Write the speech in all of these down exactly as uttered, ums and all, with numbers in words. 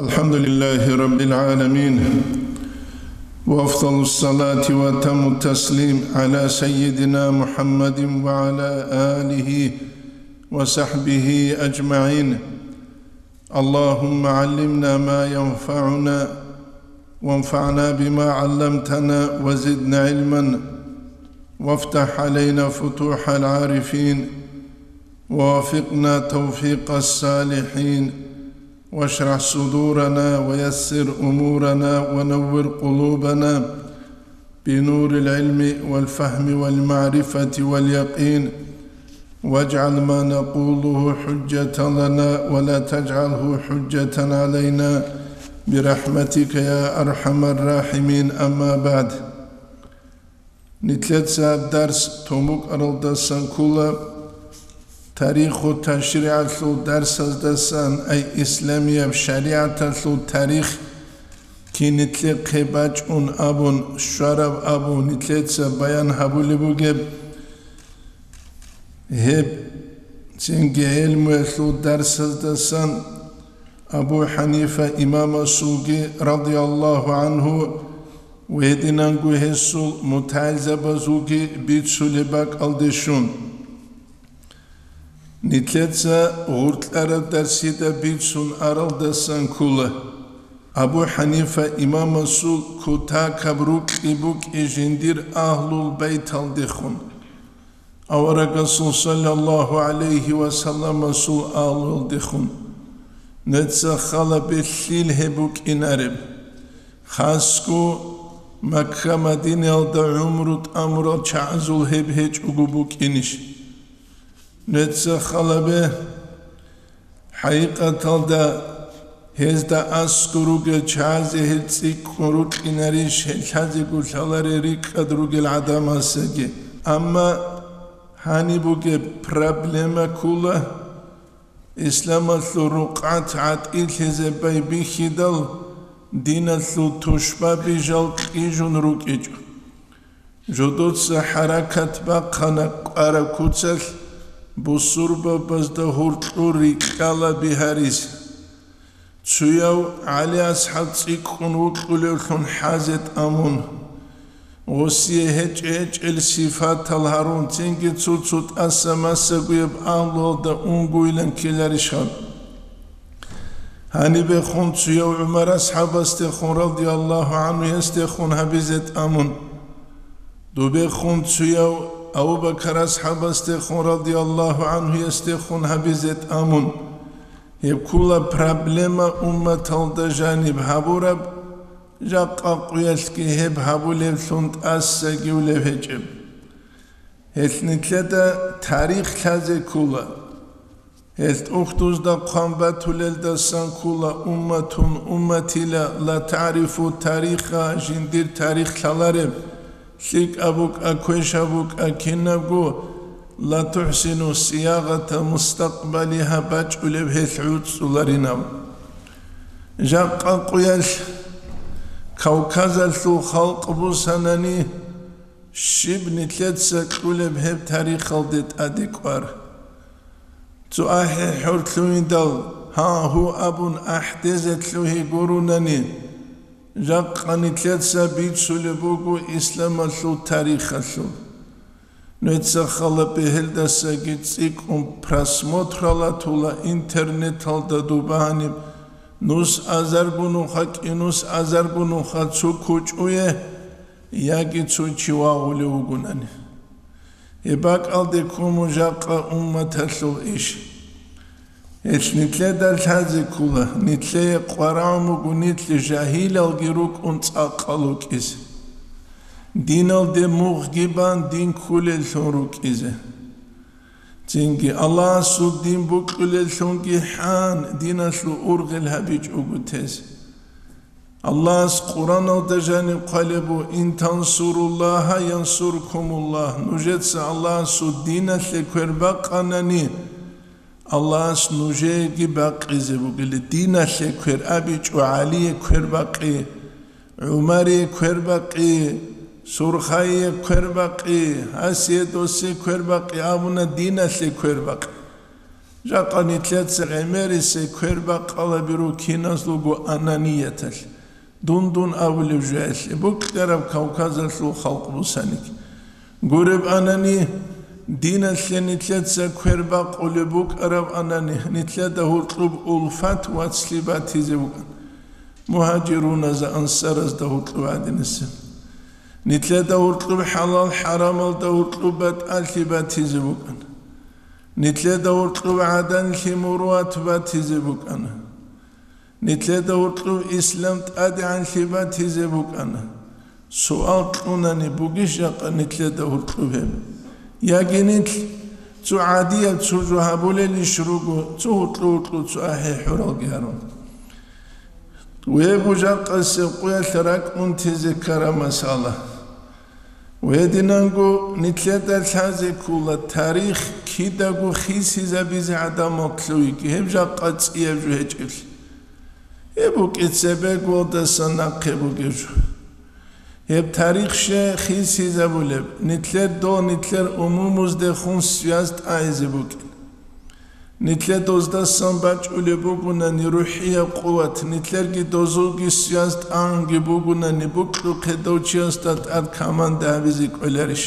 الحمد لله رب العالمين، وأفضل الصلاة وأتم التسليم على سيدنا محمد وعلى آله وصحبه أجمعين. اللهم علمنا ما ينفعنا، وانفعنا بما علمتنا، وزدنا علما، وافتح علينا فتوح العارفين، ووفقنا توفيق الصالحين، واشرح صدورنا ويسر أمورنا ونور قلوبنا بنور العلم والفهم والمعرفة واليقين، واجعل ما نقوله حجة لنا ولا تجعله حجة علينا برحمتك يا أرحم الراحمين. أما بعد. Нилъеца дарс томукъаралдасан ккола, тариху ташриалъул дарсаздасан, ай исламияб шаригӀаталъул тарих кинитлъехъе бачӀун абун, щвараб абун нилъеца баян гьабулеб бугеб. Гьеб цинги гӀелмуялъул дарсаздасан Абу Ханифа имамасулги, радияллагьу гӀангьу, ва гьединанго гьесул мутагӀилзабазулги бицулеб бакӀалде щун. Нилъеца гъуркьараб дарсида бицун аралдасан ккола, Абу Ханифа имамасул кутакаб рукьи букӀи жиндир агьлул байталдехун. Аварагасул саллаллагьу гӀалайгьи ва салламасул агьлуялдехун. Нуца хала бе лъил гьеб букӀинареб. Хасго Макка-Мадинаялда гӀумру тӀамурал чагӀазул гьеб гьечӀого букӀинищ? Нуца хала бе. ХӀакъикъаталда, гьезда аскӀор ругел чагӀазе гьел цӀикӀкӀун рукьинарищ, гьел лъазего лъаларел рикӀкӀад ругел гӀадамасаги. Амма гьаниб бугеб проблема ккола, исламалъул рукъат гӀатӀилъизе байбихьидал, диналъул тушбаби жал кьижун рукӀичӀо. Жодоца хӀаракат бахъана кӀвараб куцалъ бусурбабазда гьуркьур рикьала бигьаризе. Цуяв ГӀали асхӀаб цӀикӀкӀун вукьулевлъун хӀазе тӀамун, гъосие гьечӀ-гьечӀел сифатал гьарун, цинги цо-цо тӀаса массагояб агьлуялда унгуйилан ккеларищ гьаб? Гьанибехун цуяв ГӀумар асхӀабасдехун, радияллагьу гӀангьу, гьесдехун гьабизе тӀамун. Дубехун цуяв Абу-Бакар асхӀабасдехун, радияллагьу гӀангьу, гьесдехун гьабизе тӀамун. Гьеб ккола проблема умматалда жаниб гьабураб, жакъа къуялъги гьеб гьабулевлъун тӀасагивлев гьечӀеб. Гьелъ нилъеда тарих лъазе ккола. Гьелъ ухдузда хъван батулелдасан ккола: «Умматун умматила ла таърифу тариха», жиндир тарих лъалареб, лъикӀаб букӀа, квешаб букӀа кинабго, «ла тухӀсину сиягъата мустакъбалиха», бачӀулеб гьелъ гӀуцӀцӀуларинаб. Жакъа къуялъ Кавказалъул халкъ бусанани, щиб нилъеца кьулеб гьеб тарихалде тӀаде кӀвар? Цо ахӀи хӀур лъугьиндал, гьа-гьу абун ахӀдезе лъугьи гурунани, жакъа нилъеца бицулеб буго исламалъул тарихалъул. Нуца хала бегьелдасаги цӀикӀкӀун просмотралатула интернеталда дубаниб, нус азаргунуха, кӀинус азаргунуха цо кучӀуе, яги цо чи вагъулев вугунани. Гьеб бакӀалде ккун мун жакъа умматалъул иш. Гьелъ нилъеда лъазе ккола, нилъее къварагӀун буго нилъ жагьилалги рукӀун цӀакъал вукӀизе, диналде мугъги бан дин ккулеллъун рукӀизе. Цинги Аллагьасул дин букьулеллъунги хӀан, диналъул ургъел гьабичӀого тезе. Аллагьас Къуръаналда жаниб хъвалеб буго: «Ин тансуруллагьа янсуркумуллагь», нужеца Аллагьасул диналъе квер бакъанани, Аллагьас нужееги бакъизе бугила. Диналъе квер абичӀо, ГӀалие квер бакъи, ГӀумарие квер бакъи, Сурхайие квер бакъи, гьасие досе квер бакъи абуна, диналъе квер бакъи. Жакъа нилъеца гӀемерисей квербакъалаби руго киназулго ананияталъ, дун-дун абулеб жоялъе, букӀараб Кавказалъул халкъ бусаниги. Гуреб анани, диналъе нилъеца квербакъулеб букӀараб анани, нилъеда гьуркьуб улфат вацлъи батизе букӀана. Мугьажируназда, ансаразда гьуркьуб гӀадинасеб. Нилъеда гьуркьуб хӀалал-хӀарамалда гьуркьуб батӀалъи батизе букӀана. Нилъеда гьуркьуб гӀаданлъи муруат батизе букӀана. Нилъеда гьуркьуб ислам тӀадегӀанлъи батизе букӀана. Суал кьунани, бугищ жакъа нилъеда гьуркьуб гьеб? Яги нилъ цо гӀадияб цо жо гьабулелищ руго, цо гьуркьу-гьуркьу цо ахӀи-хӀуралги гьарун? Гьеб жакъасеб къуялъ ракӀ унтизе ккараб масала. Гьединанго нилъеда лъазе ккола тарих кидаго хисизабизе гӀадамал лъугьиги, гьеб жакъа цӀияб жо гьечӀеблъи. Гьеб букӀин цебе гвалдасан нахъе бугеб жо. Гьеб тарих щай хисизабулеб, нилъер дол нилъер умумуздехун связь тӀагӀизе букӀин. Нилъер доздасан бачӀулеб бугунани рухӀияб къуват, нилъерги дозулги связь тӀагӀунги бугунани, букьухъе дов чиясда тӀад команда гьабизе кӀоларищ?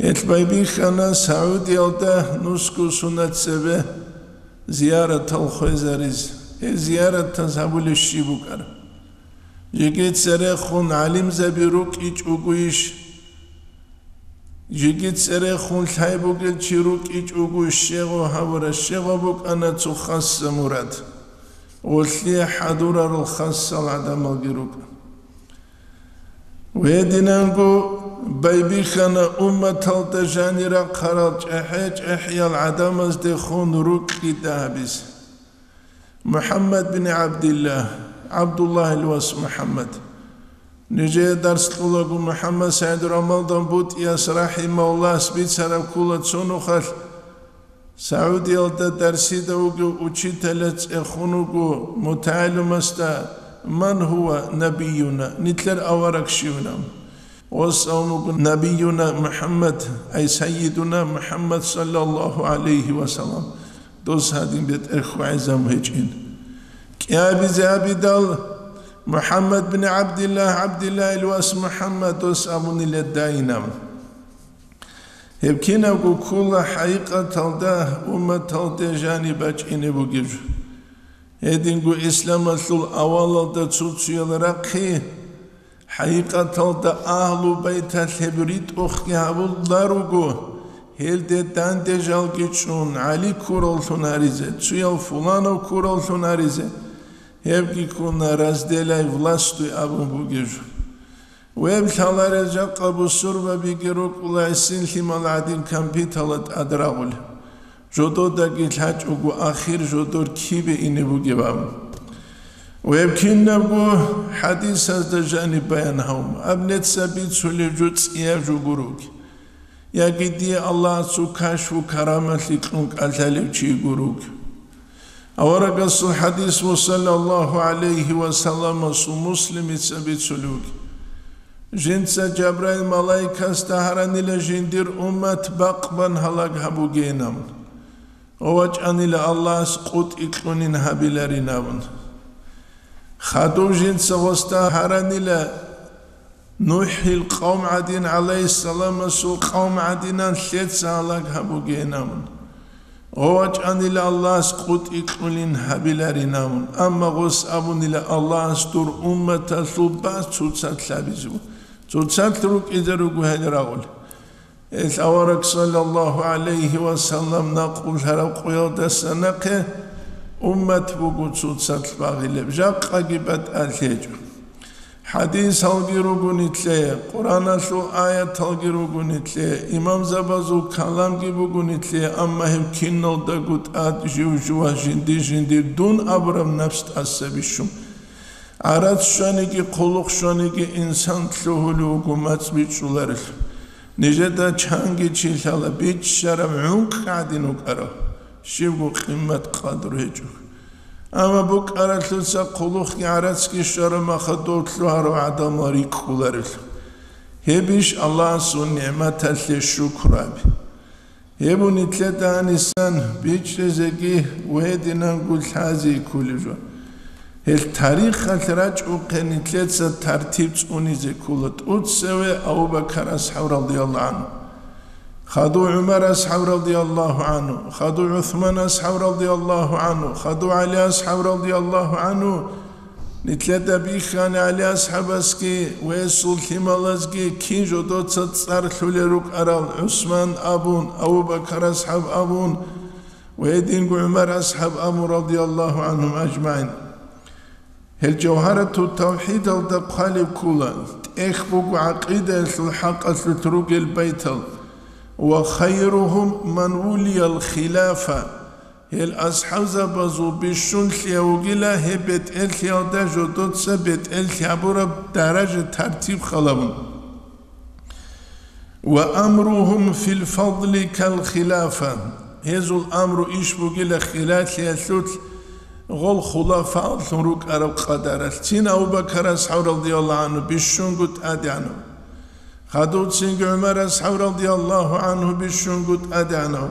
Гьелъ байбихьана Саудиялда нусго сунат цебе зияратал хвезаризе. Гьел зияратаз гьабулеб щиб букӀараб? Жеги церехун гӀалимзаби рукӀичӀогойищ? Жеги церехун лъай бугел чи рукӀичӀого щегъо гьавураб щегъо букӀана цо хасса мурад. Гъолъие хӀадурарал хасал гӀадамалги рукӀана. Гьединанго байбихьана умматалда жанир рахъарал чӀахӀи-чӀахӀиял гӀадамаздехун рукӀида гьабизе. МухӀаммад бин ГӀабдилла, ГӀабдуллагьил вас МухӀаммад. Нижее дарс кьолаго МухӀаммад СагӀид Рамалдан БутӀияс рахӀимагьуллагьас бицараб ккола цо нухалъ Саудиялда дарсида вугев учителас цӀехун вуго мутагӀалимасда: «Ман гьува набиюна?» Нилъер авараг щивинав? Гъос абун буго: «Набиюна МухӀаммад, ай сайидуна МухӀаммад саллаллагьу гӀалайгьи ва саллам». Дос гьадин бетӀер хьвагӀизабун гьечӀин. КӀиабизе абидал, МухӀаммад бин ГӀабдиллагь, ГӀабдиллагьил вас МухӀаммад, дос абунила дайинаб. Гьеб кинабго ккола хӀакъикъаталда умматалде жаниб бачӀине бугеб жо. Гьединго исламалъул авалалда цо-цоял рахъи, хӀакъикъаталда Агьлу Байталъ гьеб ритӀухъги гьабуларуго, гьелде данде жалги чӀун, ГӀали ккураллъун гьаризе, цоял фуланав ккураллъун гьаризе, гьебги ккуна «разделяй властвуй» абун бугеб жо. Гьеб лъаларел жакъа бусурбабиги рукӀула гӀисин лъимал гӀадин компьютералда тӀад рагъулел. Жододаги лъачӀого ахир жодор кибе ине бугеб абун. Гьеб кинабго хӀадисазда жаниб баян гьавун, аб нецаби цолеб жо цӀияб жо гуроги. Яги дие Аллагьас цо кашфу карамалъи кьун кӀалъалев чи гуроги. Аварагасул хӀадис ва саллаллагьу гӀалайгьи ва салламасул Муслимица бицулев вугеб. Жинца Жабраил малаикасда гьаранила жиндир уммат бакъбан гьалаг гьабугейин абун. Ва вачӀанила Аллагьас къутӀи кьунин гьабиларин абун. Хадув жинца гъосда гьаранила НухӀил къавм гӀадин, гӀалайгьиссаламасул къавм гӀадинан лъеца гьалаг гьабугейин абун. Ва вачӀанила Аллагьас къутӀи кьунин гьабиларин абун, амма гъос абунила Аллагьас дур умматалъул баз цоцалъ гьабизе. Цоцалъ рукӀизе руго гьел рагъулел. Гьел авараг саллаллагьу гӀалайгьи ва саллам накъулараб къоялдаса нахъе уммат буго цоцалъ багъилеб, жакъаги батӀалъи гьечӀо. ХӀадисалги руго нилъее, Къуръаналъул аяталги руго нилъее, имамзабазул каламги буго нилъее, амма гьеб киналдаго тӀад жив-жувас жиндир-жиндир дун абураб напс тӀаса бищун. ГӀарац щваниги, хъулухъ щваниги инсан лъугьулев вуго мацӀ бичӀчӀуларелъул. Нижеда чанги чи лъала биччараб гӀункӀ гӀадин вукӀарав, щибго къимат-къадру гьечӀо. Амма букӀаралъуца хъулухъги гӀарацги щвараб махадув лъугьарав гӀадамал рикӀкӀуларелъул. Гьебищ Аллагьасул нигӀматалъе шукру гьаби? Гьеб нилъеда гьанисан бичӀчӀизеги ва гьединанго лъазе кколеб жо. Гьел тарихалъ рачӀухъе нилъеца тартиб цӀунизе ккола тӀоцеве Абу Бакар асхӀаб радияллагьу гӀанхӀу, хадув ГӀумар асхӀаб радияллагьу гӀанхӀу, хадув ГӀусман асхӀаб радияллагьу гӀанхӀу, хадув ГӀали асхӀаб радияллагьу гӀанхӀу. Нилъеда бихьани ГӀали асхӀабасги ва гьесул лъималазги кин жодоца цӀар лъулел рукӀарал, ГӀусман абун, Абу Бакар асхӀаб абун ва гьединго ГӀумар асхӀаб абун, радияллагьу гӀанхӀум ажмагӀин. Гьел Жавгьарату тавхӀидалда хъвалеб ккола, тӀехь буго гӀакъидаялъул хӀакъалъулъ ругел байтал: «Ва хайругьум ман вулиял хилафа». Гьел асхӀабзабазул бищунлъияв вугила гьеб бетӀерлъиялда жодоца бетӀерлъи гьабураб даража тартиб халабун. «Ва амругьум фил фадли кал хилафа». Гьезул амру иш бугила хилалъиялъулъ гъол хулафааллъун рукӀараб къадаралъ. Цин Абу Бакар асхӀаб радияллагьу гӀанхӀу бищунго тӀадегӀанав. Хадув цинги ГӀумар асхӀаб радияллагьу гӀанхӀу бищунго тӀадегӀанав.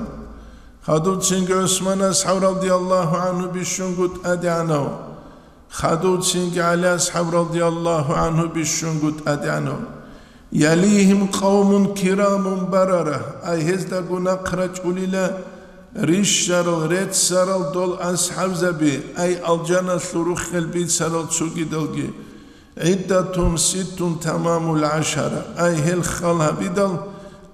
Хадув цинги ГӀусман асхӀаб радияллагьу гӀанхӀу бищунго тӀадегӀанав. Хадув цинги ГӀали асхӀаб радияллагьу гӀанхӀу бищунго тӀадегӀанав. «Ялигьим къавмун кирамун барара», ай гьездаго нахъ рачӀунила рищарал, реццарал дол асхӀабзаби, ай алжаналъул руххел бицарал цогидалги. «ГӀиддатун ситтун тамамул гӀашара», ай гьел хал гьабидал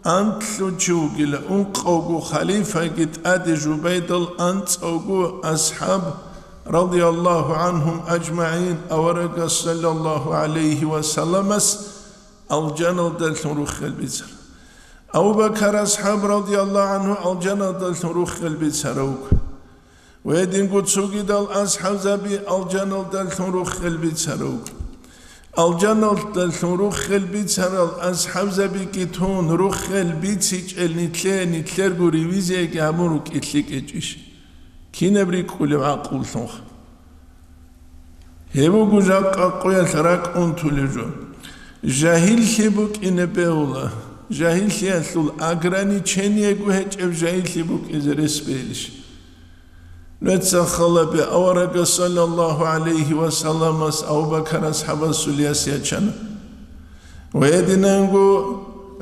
анлъго чи вугила, ункъавго халифаги тӀаде жубайдал анцӀавго асхӀаб, радияллагьу гӀанхӀум ажмагӀин, аварагас саллаллагьу гӀалайгьи ва салламас алжаналдалъун руххел бицар. Абу Бакар асхӀаб радияллагьу гӀанхӀу алжаналдалъун руххел бицарав вуго. Гьединго цогидал асхӀабзаби алжаналдалъун руххел бицарав вуго. Алжаналдалъун руххел бицарал асхӀабзабиги тун, руххел бицичӀел нилъе, нилъерго ревизияги гьабун рукӀин лъикӀ гьечӀищ? Кинаб рикӀкӀулеб гӀакълулъунха? Гьеб буго жакъа къоялъ ракӀ унтулеб жо. Жагьиллъи букӀине бегьула. Жагьиллъиялъул ограничениего гьечӀеб жагьиллъи букӀизе рес бегьилищ? Нуца халабе, аварагас саллаллагьу гӀалайгьи ва салламас Абу Бакар асхӀабасул яс ячана. Ва гьединанго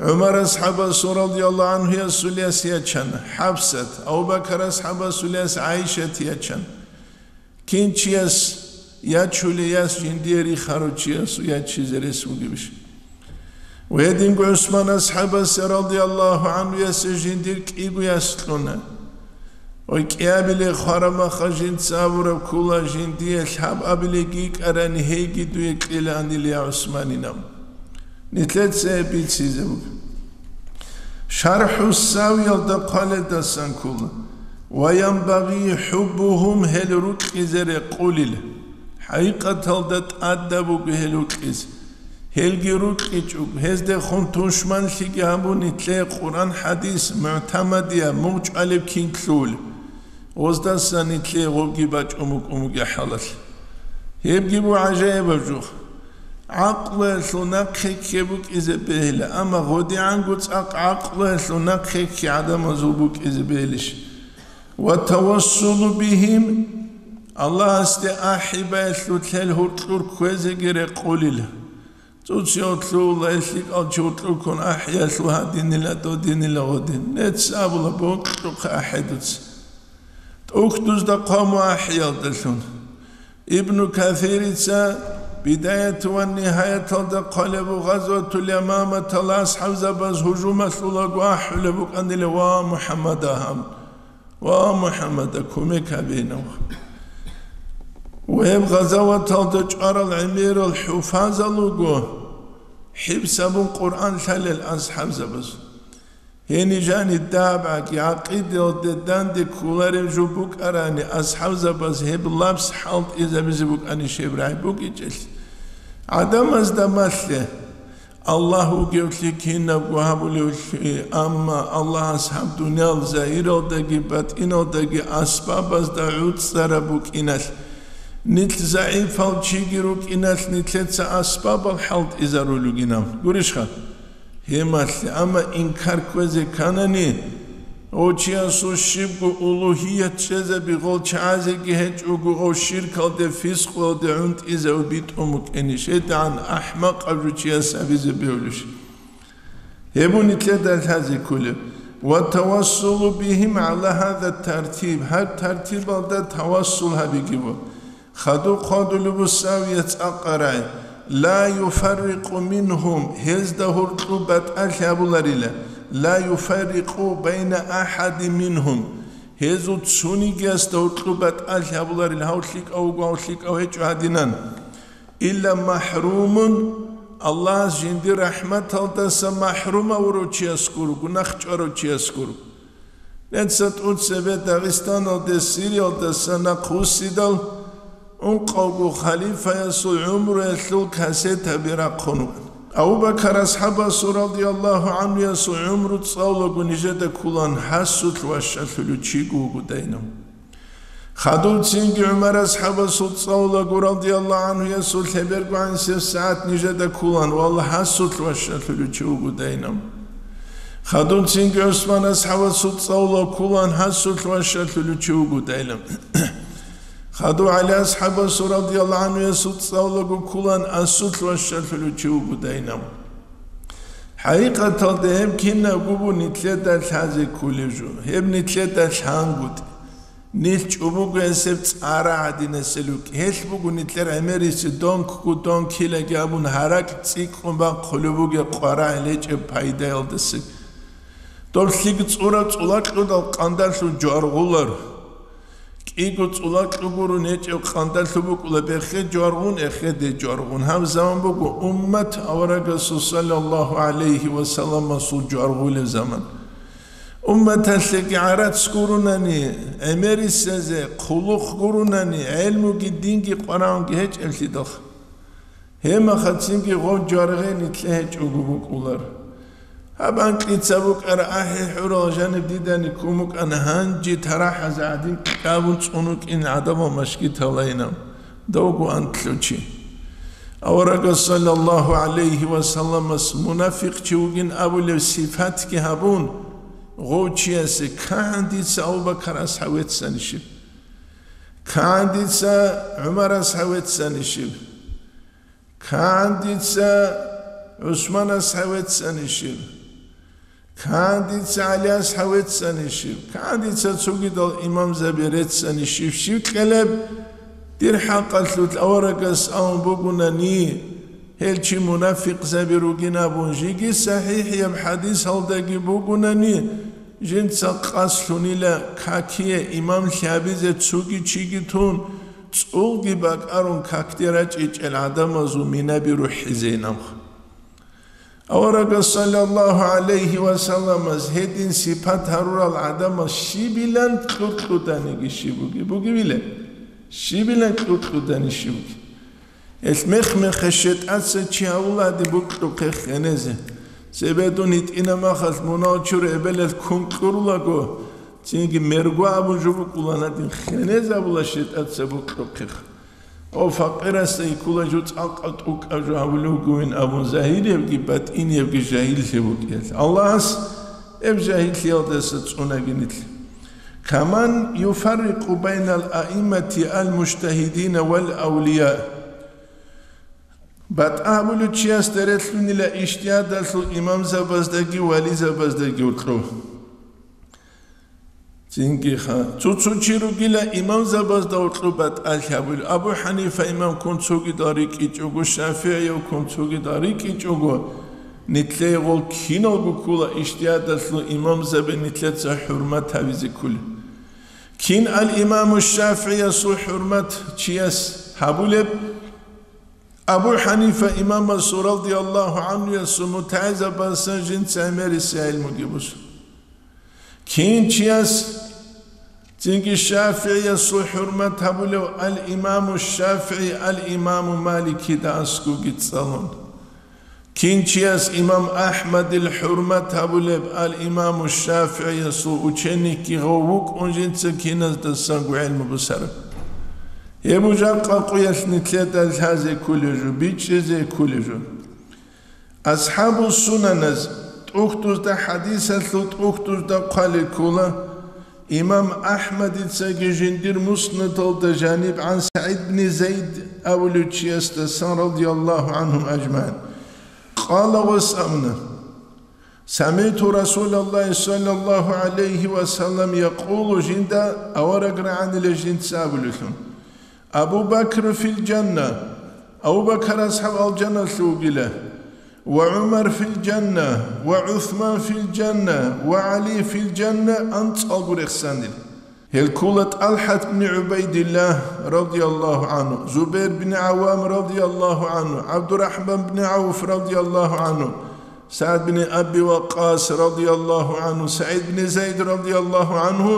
ГӀумар асхӀабасул радияллагьу гӀанхӀу ясул яс ячана, ХӀафсат, Абу Бакар асхӀабасул яс ГӀайшат ячана. Кин чияс ячулей яс жиндие рихарав чияс ячизе рес бугебищ? Ва гьединго ГӀусман асхӀабасе радияллагьу гӀанхӀу ясе жиндир кӀиго яс кьуна. Ва кӀиабиле хварамаха жинца абураб ккола, жиндие лъабабилеги йикӀарани гьейги дуе кьелааниле, я ГӀусманинав. Нилъеца гьеб бицизе буго. ШархӀу Савиялда хъваледасан ккола: «Ва янбагъи хӀуббугьум», гьел рукьизе рекъулел. ХӀакъикъаталда тӀадаб буго гьел рукьизе. Гьелги рукьичӀого, гьездехун тушманлъиги гьабун, нилъее Къуръан-хӀадис, мугӀтамадияб, мугъчӀвалеб кин лъугьулеб. Гъоздасан нилъее гъобги бачӀун букӀун бугеб хӀалалъ. Гьебги буго гӀажаибаб жо. ГӀакълуялъул нахъе кке букӀизе бегьила, амма гъодигӀанго цӀакъ гӀакълуялъул нахъе кке гӀадамазул букӀизе бегьилищ? «Ва тавассулу бигьим», Аллагьасде ахӀи баялъул гьел гьоркьор кквезеги рекъулел. ЦӀуцӀиялъул лъикӀал чи гьоркьор ккун ахӀиялъул гьадинила, додинила гъодин. Нецц абула, бокьухъе ахӀи дуца. ТӀухьдузда хъваму ахӀиялдалъун. Ибну Касирица Бидаят ва Нигьаяталда хъвалеб буго, Гъазватул Ямаматалас асхӀабзабаз гьужумалъулаго ахӀулеб букӀанила: «Ва МухӀаммад, агьаб! Ва МухӀаммад, кумек гьабе, инав!» Ва гьеб гъазаваталда чӀварал гӀемерал хӀуфазал руго, хӀифз гьабун Къуръан лъалел асхӀабзабаз. Гьениб жани дагӀбаги гӀакъидалде данде кколареб жо букӀарани, асхӀабзабаз гьеб лапс хӀалтӀизабизе букӀанищ гьеб рагӀи букӀинчӀелъ? ГӀадамазда малъе, Аллагь вугевлъи кинабго гьабулевлъи, амма Аллагьас гьаб дуниял загьиралдаги батӀиналдаги асбабазда гӀуцӀараб букӀиналъ, нилъ загӀипал чиги рукӀиналъ, нилъеца асбабал хӀалтӀизарулел ругинал. Гурищха? Гьемалъе, амма инкар кквезе кканани, Гъов чиясул щибго улугьият чӀезаби гъол чагӀазеги гьечӀого, гъов ширкалде, фискъуялде гӀунтӀизаве битӀун букӀинищ? ГьедигӀан ахӀмакъаб жо чияс гьабизе бегьулищ? Гьеб буго нилъеда лъазе кколеб. Ва тавассулу бигьим гӀала гьаза тартиб, гьаб тартибалда тавассул гьабиги буго. Хадуб хъвадулеб буго савият цӀакъ рагӀи: ла юфаррикъу мингьум, гьезда гьоркьоб батӀалъи гьабуларила, ла юфаррикъу байна ахадин мингьум, гьезул цонигиясда гьоркьоб батӀалъи гьабуларила, гьав лъикӀав вуго, гьав лъикӀав гьечӀо гьадинан. Илла махӀрумун, Аллагьас жиндир рахӀматалдаса махӀрум гьавурав чияс гуро, гунагь чӀварав чияс гуро. Нилъеца тӀоцебе Дагъистаналде Сириялдаса нахъвуссидал, ункъавго халифаясул гӀумруялъул кассетаби рахъун вукӀана. Абу-Бакар асхӀабасул радияллагьу гӀанхуясул гӀумру цӀалулаго нижеда кколаан, гьасулъ ващалъулев чиго вуго дайнав. Хадуб цинги ГӀумар асхӀабасул цӀалулаго радияллагьу гӀанхуясул лъеберго гӀанасеб сагӀат нижеда кколаан, валлагь, гьасулъ ващалъулев чи вуго дайнав. Хадуб цинги ГӀусман асхӀабасул цӀалулаго кколаан, гьасулъ ващалъулев чи вуго дайнав. Хадуб ГӀали асхӀабасул радияллагьу гӀанхуясул цӀалулаго кколаан, асулъ ващалъулев чи вуго дайнав. ХӀакъикъаталда гьеб кинабго буго нилъеда лъазе кколеб жо, гьеб нилъеда лъангутӀи. Нилъ чӀобого гьесеб цӀара гӀадинасел рукӀ. Гьелъ буго нилъер гӀемерисеб донкго донкилаги абун гьаракь цӀикӀкӀун бахъулеб бугеб къварагӀел гьечӀеб пайдаялдаса. Доб лъикӀ цӀураб цӀулакьудал къандалъун жваргъулар. КӀиго цӀулакьу гуро гьечӀеб къандалъуб букӀула бехе жваргъун, эхеде жваргъун. Гьаб заман буго уммат аварагасул саллаллагьу гӀалайгьи ва салламасул жваргъулеб заман. Умматалъеги гӀарац гуронани, гӀемерисезе хъулухъ гуронани, гӀелмуги динги къварагӀунги гьечӀеблъидалха. Гьебмехалъ цинги гъов жваргъи нилъее гьечӀого букӀулар. Гьаб анкьица букӀара ахӀи-хӀурал жаниб дидани ккун букӀана, гьанже тарахӀазе гӀадин кьабун цӀун вукӀин гӀадамал машгитал лайнаб. Давго антлъучи. Аварагас саллаллагьу гӀалайгьи ва салламас мунафикъчи вугин абулеб сипатги гьабун, гъов чиясе: «КагӀан дица Абу-Бакар асхӀаб веццанищиб? КагӀан дица ГӀумар асхӀаб веццанищиб? КагӀан дица ГӀусман асхӀаб веццанищиб? КагӀан дица ГӀали асхӀаб веццанищиб? КагӀан дица цогидал имамзаби реццанищиб?» Щив кьелеб? Дир хӀакъалъулъ аварагас абун бугунани, гьел чи мунафикъзаби ругин абун, жеги сахӀихӀияб хӀадисалдаги бугунани, жинца къасд лъунила какие имамлъи гьабизе цоги чиги тун, цӀулги бакӀарун какде рачӀичӀел гӀадамазул минаби рухӀизейин абун. Аварагас саллаллагьу гӀалайгьи ва салламас гьедин сипат гьарурал гӀадамал щибилан кьукьуданиги щиб буги, бугевилан? Щибилан кьукьудани щиб буги? Гьелъ мех-мехалъ шетӀаца чи гьавулади букьухъе хенезе. Цебе дун гьитӀина махалъ мунал чур эбелалъ ккун кьурулаго, цинги мерго абун жо букӀуланадин хенезабула шетӀаца букьухъеха. О, факъирасда йиккула жо цӀакъа тӀукӀа жо гьавулев вугевин абун, загьириябги батӀиниябги жагьиллъи букӀел. Аллагьас гьеб жагьиллъиялдаса цӀунаги нилъ. Каман юфаррикъу байнал аиммати ал-мужтагьидина вал авлия. БатӀа гьабулев чиясда релълъунила ижтигьадалъул имамзабаздаги вализабаздаги гьоркьоб. Цинги ха-, цо-цо чи ругила имамзабазда гьоркьоб батӀалъи гьабулев. Абу ХӀанифа имам ккун цогидал рикӀкӀичӀого, ШафигӀияв ккун цогидал рикӀкӀичӀого, нилъее гъол киналго ккола ижтигьадалъул имамзаби нилъеца хӀурмат гьабизе кколел. Кин ал-Имаму ШафигӀиясул хӀурмат чияс гьабулеб? Абу ХӀанифа имамасул радияллагьу гӀанхуясул мутагӀилзабазасан жинца гӀемерисеб гӀелмуги босун. Кин чияс цинги ШафигӀиясул хӀурмат гьабулев ал-Имаму ШафигӀи ал-Имаму Маликида аскӀовги цӀалун. Кин чияс имам АхӀмадил хӀурмат гьабулеб ал-Имаму ШафигӀиясул ученикги гъов вукӀун жинца киназдасанго гӀелму бусараб. Гьеб жакъа къуялъ нилъеда лъазе кколеб жо, бичӀчӀизе кколеб жо. АсхӀабул сунаназ ТӀухьдузда хӀадисалъул тӀухьдузда хъвалел ккола. Имам АхӀмадицаги жиндир Муснадалда жаниб гӀан СагӀид бни Зайд абулев чиясдасан, радияллагьу гӀанхум ажмагӀин, къала, гъос абуна: «СамигӀту Расулаллагьи саллаллагьу гӀалайгьи ва саллам якъулу», жинда авараг рагӀанила жинца абулелъун: «Абу Бакр фил жанна», Абу Бакар асхӀаб алжаналъув вугила, «ва ГӀумар фил жанна, ва ГӀусман фил жанна, ва ГӀали фил жанна», анцӀалго рехсанил. Гьел ккола ТӀалхӀат бни ГӀубайдиллагь, радияллагьу гӀанху, Зубайр бни ГӀаввам, радияллагьу гӀанху, ГӀабдурахӀман бни ГӀавф, радияллагьу гӀанху, СагӀд бни Аби Ваккъас, радияллагьу гӀанху, СагӀид бни Зайд, радияллагьу гӀанху,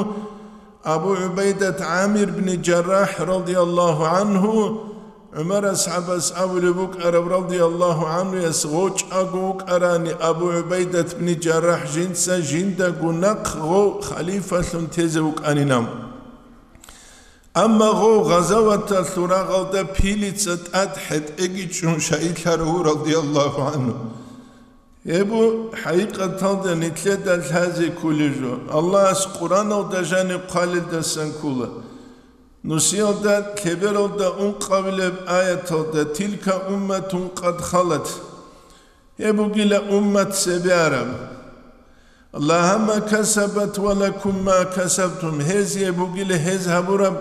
Абу ГӀубайдат ГӀамир бни ЖаррахӀ, радияллагьу гӀанху, ГӀумар асхӀабас абулеб букӀараб, радияллагьу гӀанхуяс, гъов чӀаго вукӀарани Абу ГӀубайдат бни ЖаррахӀ жинца жиндаго нахъ гъов халифалъун тезе вукӀанинав. Амма гъов гъазаваталъул рагъалда пилица тӀад хӀетӀеги чӀун шагьидлъарав, радияллагьу гӀанху. Гьеб бу хӀакъикъаталда нилъеда лъазе кколеб жо, Аллагьас Къуръаналда жаниб хъвалелдасан ккола. Нусиялда лъебералда ункъабилеб аяталда: «Тилка умматун къад халат». Гьеб бугила уммат цебе араб. «Лагьа ма касабат ва лакум ма касабтум», гьезие бугила гьез гьабураб,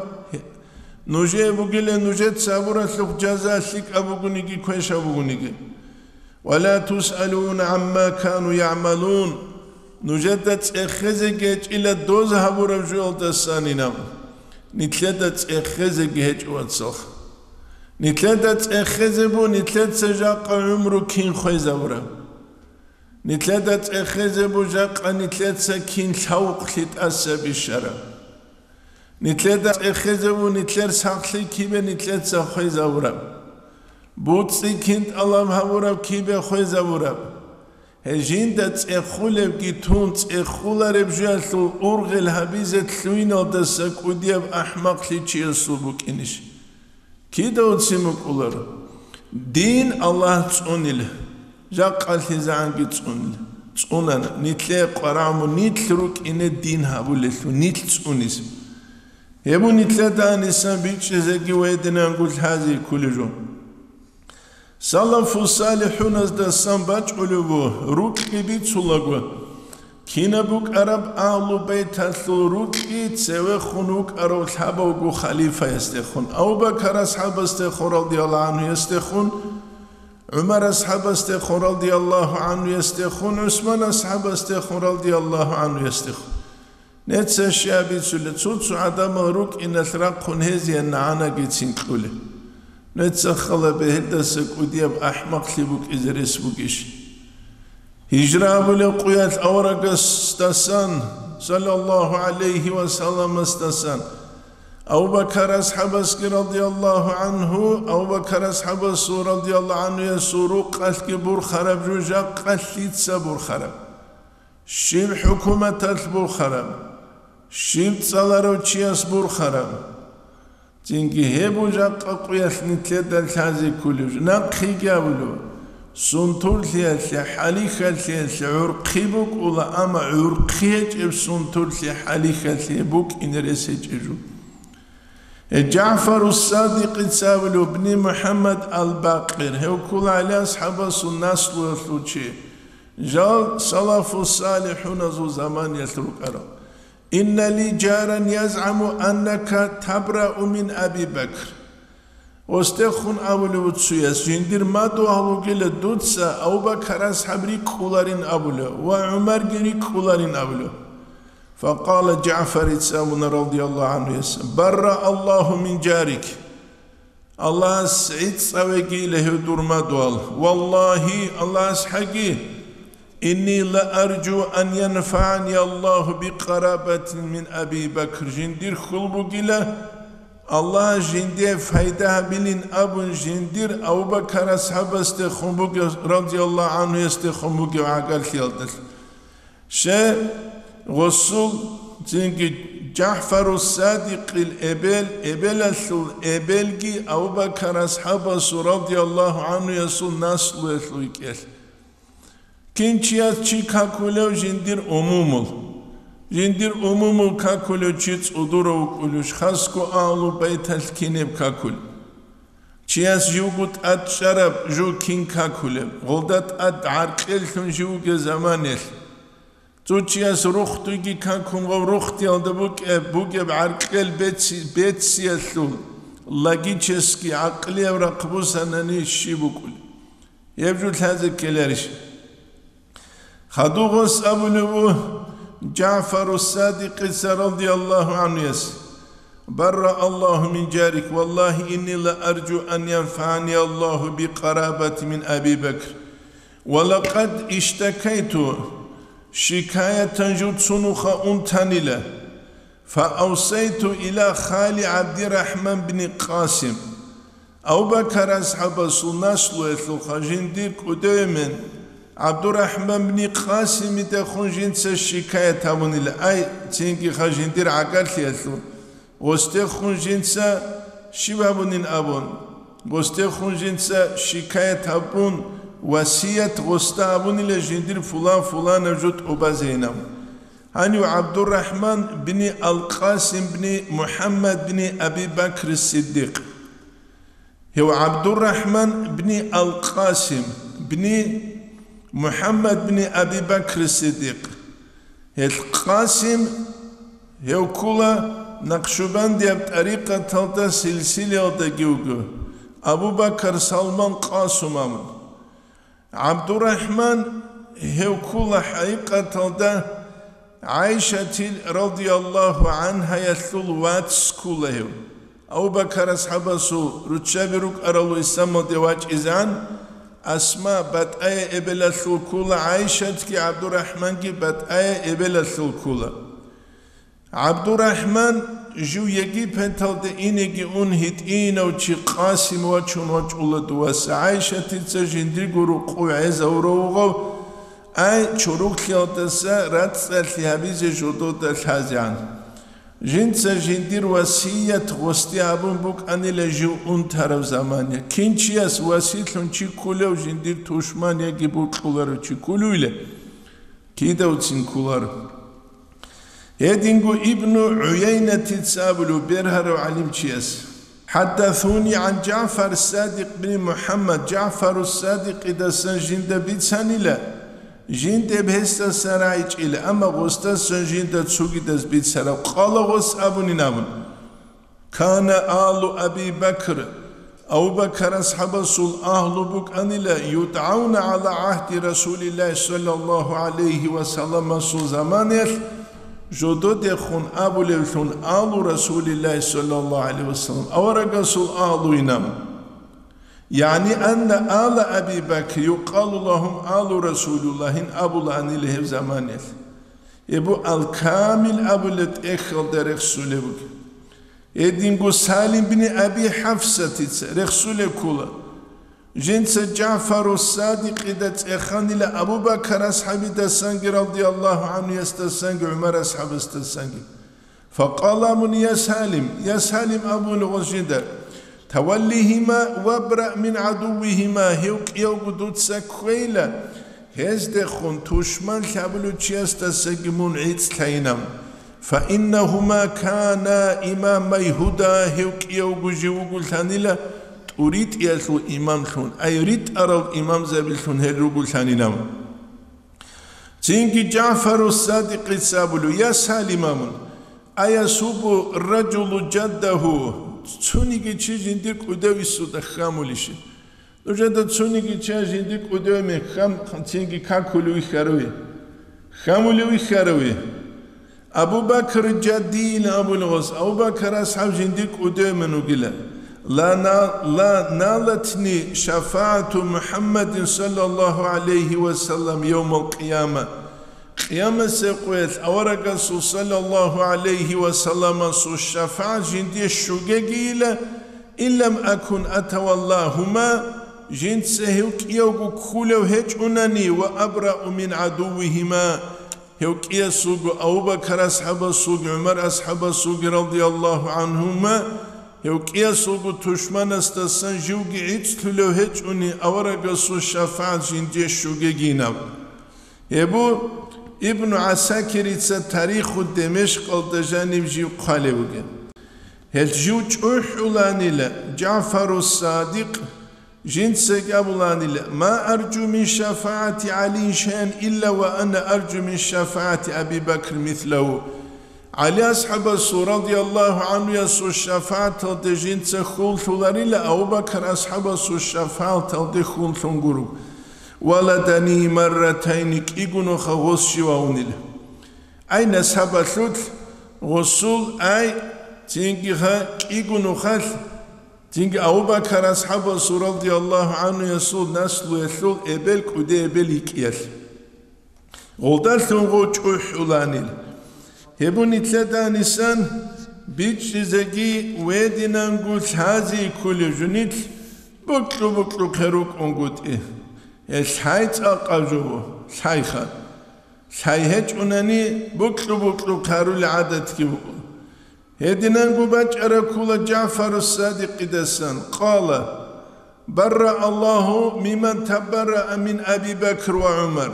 нужее бугила нужеца гьабуралъухъ жаза, лъикӀаб бугониги, квешаб бугониги. «Ва ла тусъалуна гӀамма кану ягӀмалун», нужеда цӀехезеги гьечӀила доз гьабураб жоялдасанинаб. Нилъеда цӀехезеги гьечӀо, вацал. Нилъеда цӀехезе бу, нилъеца жакъа гӀумру кин хвезабураб. Нилъеда цӀехезе бу жакъа нилъеца кин лъавукълъи тӀаса бищараб. Нилъеда цӀехезе бу нилъер сахлъи кибе нилъеца хвезабураб. БуцӀи кин тӀалаб гьабураб кибе хвезабураб. Гьей жинда цӀехулебги тун, цӀехулареб жоялъул ургъел гьабизе лъугьиналдаса кӀудияб ахӀмакълъи чиясул букӀинищ? Кида уцин букӀуларо? Дин Аллагь цӀунила, жакъалъизегӀанги цӀунила, цӀунана, нилъее къварагӀму нилъ рукӀине дин гьабулелъул, нилъ цӀунизе. Гьеб бу нилъеда гьанисан бичӀчӀизеги ва гьединанго лъазе кколеб жо. Салафу-салихӀуназдасан бачӀулеб бу, рукьи бицулаго, кинаб букӀараб Агьлу Бейталъул рукьи цевехун вукӀарав лъабавго халифаясдехун, Абу Бакар асхӀабасдехун, радияллагьу гӀанхуясдехун, ГӀумар асхӀабасдехун, радияллагьу гӀанхуясдехун, ГӀусман асхӀабасдехун, радияллагьу гӀанхуясдехун. Нецца щай бицулеб, цо-цо гӀадамал рукӀиналъ рахъун гьезие нагӀанагицин кьулеб. Нецца хала бегьердаса кӀудияб ахӀмакълъи букӀизе рес бугищ? Гьижра абулеб къуялъ аварагасдасан, саллаллагьу гӀалайгьи ва салламасдасан, Абу Бакар асхӀабасги, радияллагьу гӀанху, Абу Бакар асхӀабасул, радияллагьу гӀанхуясул рукъалъги бурхараб жо жакъа лъица бурхараб? Щиб хӀукуматалъ бурхараб? Щиб цӀаларав чияс бурхараб? Цинги гьеб бу жакъа къуялъ нилъеда лъазе кколеб жо. Нахъеги абулеб, сунтурлъиялъе, хӀалихьалъиялъе гӀурхъи букӀула, амма гӀурхъи гьечӀеб сунтурлъи, хӀалихьалъи букӀине рес гьечӀеб жо. Гье, ЖагӀфару Садикъица абулеб, бни МухӀаммад ал-Бакъир, гьев ккола ГӀали асхӀабасул наслуялъул чи. Жал салафу салихӀуназул заманиялъ рукӀарал. «Инна ли жаран язгӀаму аннака табрау мин Аби Бакр». Гъосдехун абулев цуяс, жиндир мадугьал вугила дуца Абу Бакар асхӀаб рикӀкӀуларин абулев ва ГӀумарги рикӀкӀуларин абулев. Факъала ЖагӀфарица абуна, радияллагьу гӀанхуяс: «Барра Аллагьу мин жарик». Аллагьас гӀицӀцӀавегийила гьев дур мадугьал. Валлагьи, Аллагьас хӀаги, «Инни ла аржу ан янфагӀани Аллагьу бикъарабатин мин Аби Бакр», жиндир хьул бугила, Аллагьас жинде пайда гьабилин абун жиндир Абу Бакар асхӀабасдехун бугев, радияллагьу гӀанхуясдехун бугев гӀагарлъиялдалъ. Щай, гъосул цинги ЖагӀфару Садикъил эбел, эбелалъул эбелги Абу Бакар асхӀабасул, радияллагьу гӀанхуясул, наслуялъул йикӀелъ. Кин чияс чи какулев жиндир умумул? Жиндир умумул какулев чи цӀудурав вукӀулищ, хасго агьлу байталъ кинеб какулев? Чияс живго тӀад чӀараб жо кин какулеб, гъолда тӀад гӀаркьеллъун жив вугеб заманаялъ? Цо чияс рохтуйги какун ва рохтиялда букӀеб, бугеб гӀаркьел беци-, бецциялъул логически гӀакълияв рахъ бусанани щиб букӀулеб? Гьеб жо лъазе ккеларищ? Хадуб гъос абулеб буго ЖагӀфару Садикъица радияллагьу гӀанхуяс: «Барра Аллагьу мин жарик, валлагьи, инни ла аржу ан янфагӀани Аллагьу би къарабати мин Аби Бакр, ва лакъад иштакайту, шикаятан жуцунуха унтанила». Фаавсайту иля хали ГӀабдирахӀман бни Къасим. Абу-Бакар асхӀабасул наслуялъулха жиндир кӀудевемен ГӀабдурахӀман бни Къасимидехун жинца шикаят гьабунила, ай, цинги ха жиндир гӀагарлъиялъул, гъосдехун жинца щиб гьабунин абун, гъосдехун жинца шикаят гьабун, васият гъосда гьабунила жиндир фулан-фуланаб жо тӀубазейин абун. Гьанив ГӀабдуррахӀман бни Ал-Къасим бни МухӀаммад бни Аби Бакр Сиддикъ. Гьев ГӀабдуррахӀман бни Ал-Къасим бни МухӀаммад бни Аби Бакр Сиддикъ. Гьел Къасим, гьев ккула Накъшубандияб тӀарикъаталда силсилаялдаги вуго, Абу Бакар, Салман, Къасум абун. ГӀабдуррахӀман гьев ккула хӀакъикъаталда ГӀайшатил радияллагьу гӀанхаялъул вац ккула гьев. Абу-Бакар асхӀабасул руччаби рукӀаралу исламалде вачӀизегӀан, Асма батӀая эбелалъул ккула, ГӀайшатги ГӀабдуррахӀманги батӀая эбелалъул ккула. ГӀабдуррахӀман жив Египеталде инеги ун гьитӀинав чи Къасим вачун вачӀула дуваса, ГӀайшатица жиндирго рукъу гӀезавуравгъав, ай, чорухълъиялдаса рацӀцӀалъи гьабизе жодода лъазегӀан. Жинца жиндир васият гъосде гьабун букӀанила жив унтараб замана. Кин чияс василъун чи ккулев жиндир тушман яги бокьуларев чи ккулевила? Кидавцин кколаро. Гьединго Ибну ГӀуяйнатица абулев бергьарав гӀалимчияс: «ХӀаддасуни гӀан ЖагӀфар Садикъ бин МухӀаммад, ЖагӀфару Садикъидасан жинда бицанила, жиндеб гьесдасан рагӀичӀила, амма гъосдасан жинда цогидаз бицараб къала гъос абунин абун». Кана алу Аби Бакр, Абу Бакар асхӀабасул агьлу букӀанила, юдгӀавна гӀала гӀагьди Расулиллагьи саллаллагьу гӀалайгьи ва салламасул заманаялъ жододехун абулевлъун, алу Расулиллагьи саллаллагьу гӀалайгьи ва саллам, аварагасул агьлуинан. ЯгӀни анна ала Аби Бакр юкъалу лагьум алу Расулиллагьин абулаанила гьеб заманаялъ. Гьеб бу ал-Камил абулеб тӀехьалда рехсулеб бугеб. Гьединго Салим бин Аби ХӀафсатица рехсулеб ккола. Жинца ЖагӀфару Садикъида цӀеханила Абу Бакар асхӀабидасанги, радияллагьу гӀанхуясдасанги, ГӀумар асхӀабасдасанги. Факъала абун: «Я Салим, я Салим», абула гъос жинда, «таваллигьима вабра мин гӀадуввигьима», гьев кӀиявго дуца кквейила, гьездехун тушман лъабулев чиясдасаги мун гӀицӀлъайинан. «Фаиннагьума кана имамай гьуда», гьев кӀиявго жив вугулъанила тӀуритӀиялъул имамлъун, ай ритӀарал имамзабилъун гьел ругулъанинан. Цинги ЖагӀфару Садикъица абулев: «Я Салим, амун, аясубу ражулу жаддагьу, цониги чи жиндир кӀудев исуда хьамулищ? Нужеда цониги ча жиндир кӀудев мехь хам цинги какулев вихьаруй? Хьамулев вихьаруй?» Абу Бакр жаддийин абулгъас, Абу Бакр асхӀаб жиндир кӀудевман вугила. Ла на-, ла налатни шафаату МухӀаммадин саллаллагьу гӀалайгьи ва саллам явмал къияма. Къиямасеб къоялъ аварагасул саллаллагьу гӀалайгьи ва салламасул шафагӀат жиндие щугегийила, иллам акун атаваллагьума, жинца гьев кӀиявго ккулев гьечӀунани, ва абрау мин гӀадуввигьима, гьев кӀиясулго, Абу Бакар асхӀабасулги, ГӀумар асхӀабасулги, радияллагьу гӀанхума, гьев кӀиясулго тушманасдасан живги гӀицӀлъулев гьечӀуни, аварагасул шафагӀат жиндие щугегинаб. Гьеб бу Ибну ГӀасакирица Тариху Демешкъалда жаниб жив хъвалев вугеб. Гьел жив чӀухӀуланила ЖагӀфару Садикъ, жинцаги абуланила: «Ма аржу мин шафагӀати ГӀалийин шайан илла ва ана аржу мин шафагӀати Аби Бакр мислагьу». ГӀали асхӀабасул, радияллагьу гӀанхуясул, шафагӀаталде жинца хьул лъуларила, Абу Бакр асхӀабасул шафагӀаталде хьул лъун гуро. Валадани марратайни, кӀиго нуха гъос жив вугила. Ай, насабалъулъ гъосул, ай, цинги ха кӀиго нухалъ, цинги Абу Бакр асхӀабасул, радияллагьу гӀанхуясул, наслуялъул эбел, кӀуди эбел йикӀиялъ. Гъолдалъун гъо чӀухӀуланил. Гьеб бу нилъеда гьанисан бичӀчӀизеги, гьединанго лъази кколев жо нилъ букьу-букьухъе рукӀунгутӀи. Гьел лъай цӀакъаб жо бу, лъайха. Лъай гьечӀунани, букьу-букьухъе гьарулел гӀадатги букӀун. Гьединанго бачӀараб ккола ЖагӀфару Садикъидасан, къала: «Барра Аллагьу миман табарраа мин Аби Бакр ва ГӀумар».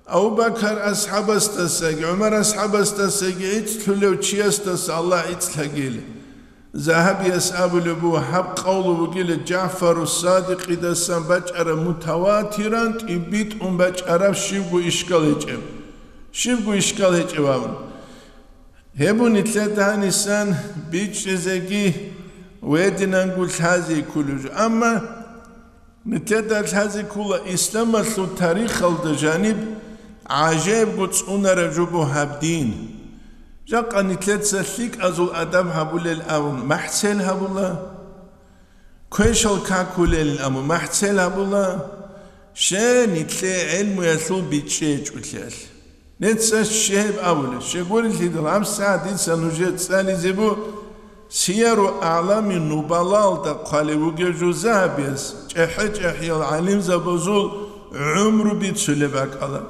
Абу Бакр асхӀабасдасаги ГӀумар асхӀабасдасаги гӀицӀлъулев чиясдаса Аллагь гӀицӀлъагийила. Загьабияс абулеб буго, гьаб къавлу бугила ЖагӀфару Садикъидасан бачӀараб мутаватиран тӀибитӀун бачӀараб щибго ишкал гьечӀеб. Щибго ишкал гьечӀеб абун. Гьеб бу нилъеда гьанисан бичӀчӀизеги, гьединанго лъази кколев жо. Амма нилъеда лъази ккола исламалъул тарихалда жаниб гӀажаибго цӀунараб жо бу гьаб дин. Жакъа нилъеца лъикӀазул адаб гьабулел абун махӀцел гьабула. Квешал какулел абун махӀцел гьабула, щай нилъее гӀелмуялъул бичӀчӀи гьечӀолъиялъ. Нилъеца щиб абулеб, щай гурелъидал, гьабсагӀат дица нужее цӀализе бу Сияру АгӀлами Нубалаялда хъвалев вугев жо Загьабияс чӀехӀе-чӀехӀиял гӀалимзабазул гӀумру бицулеб бакӀала.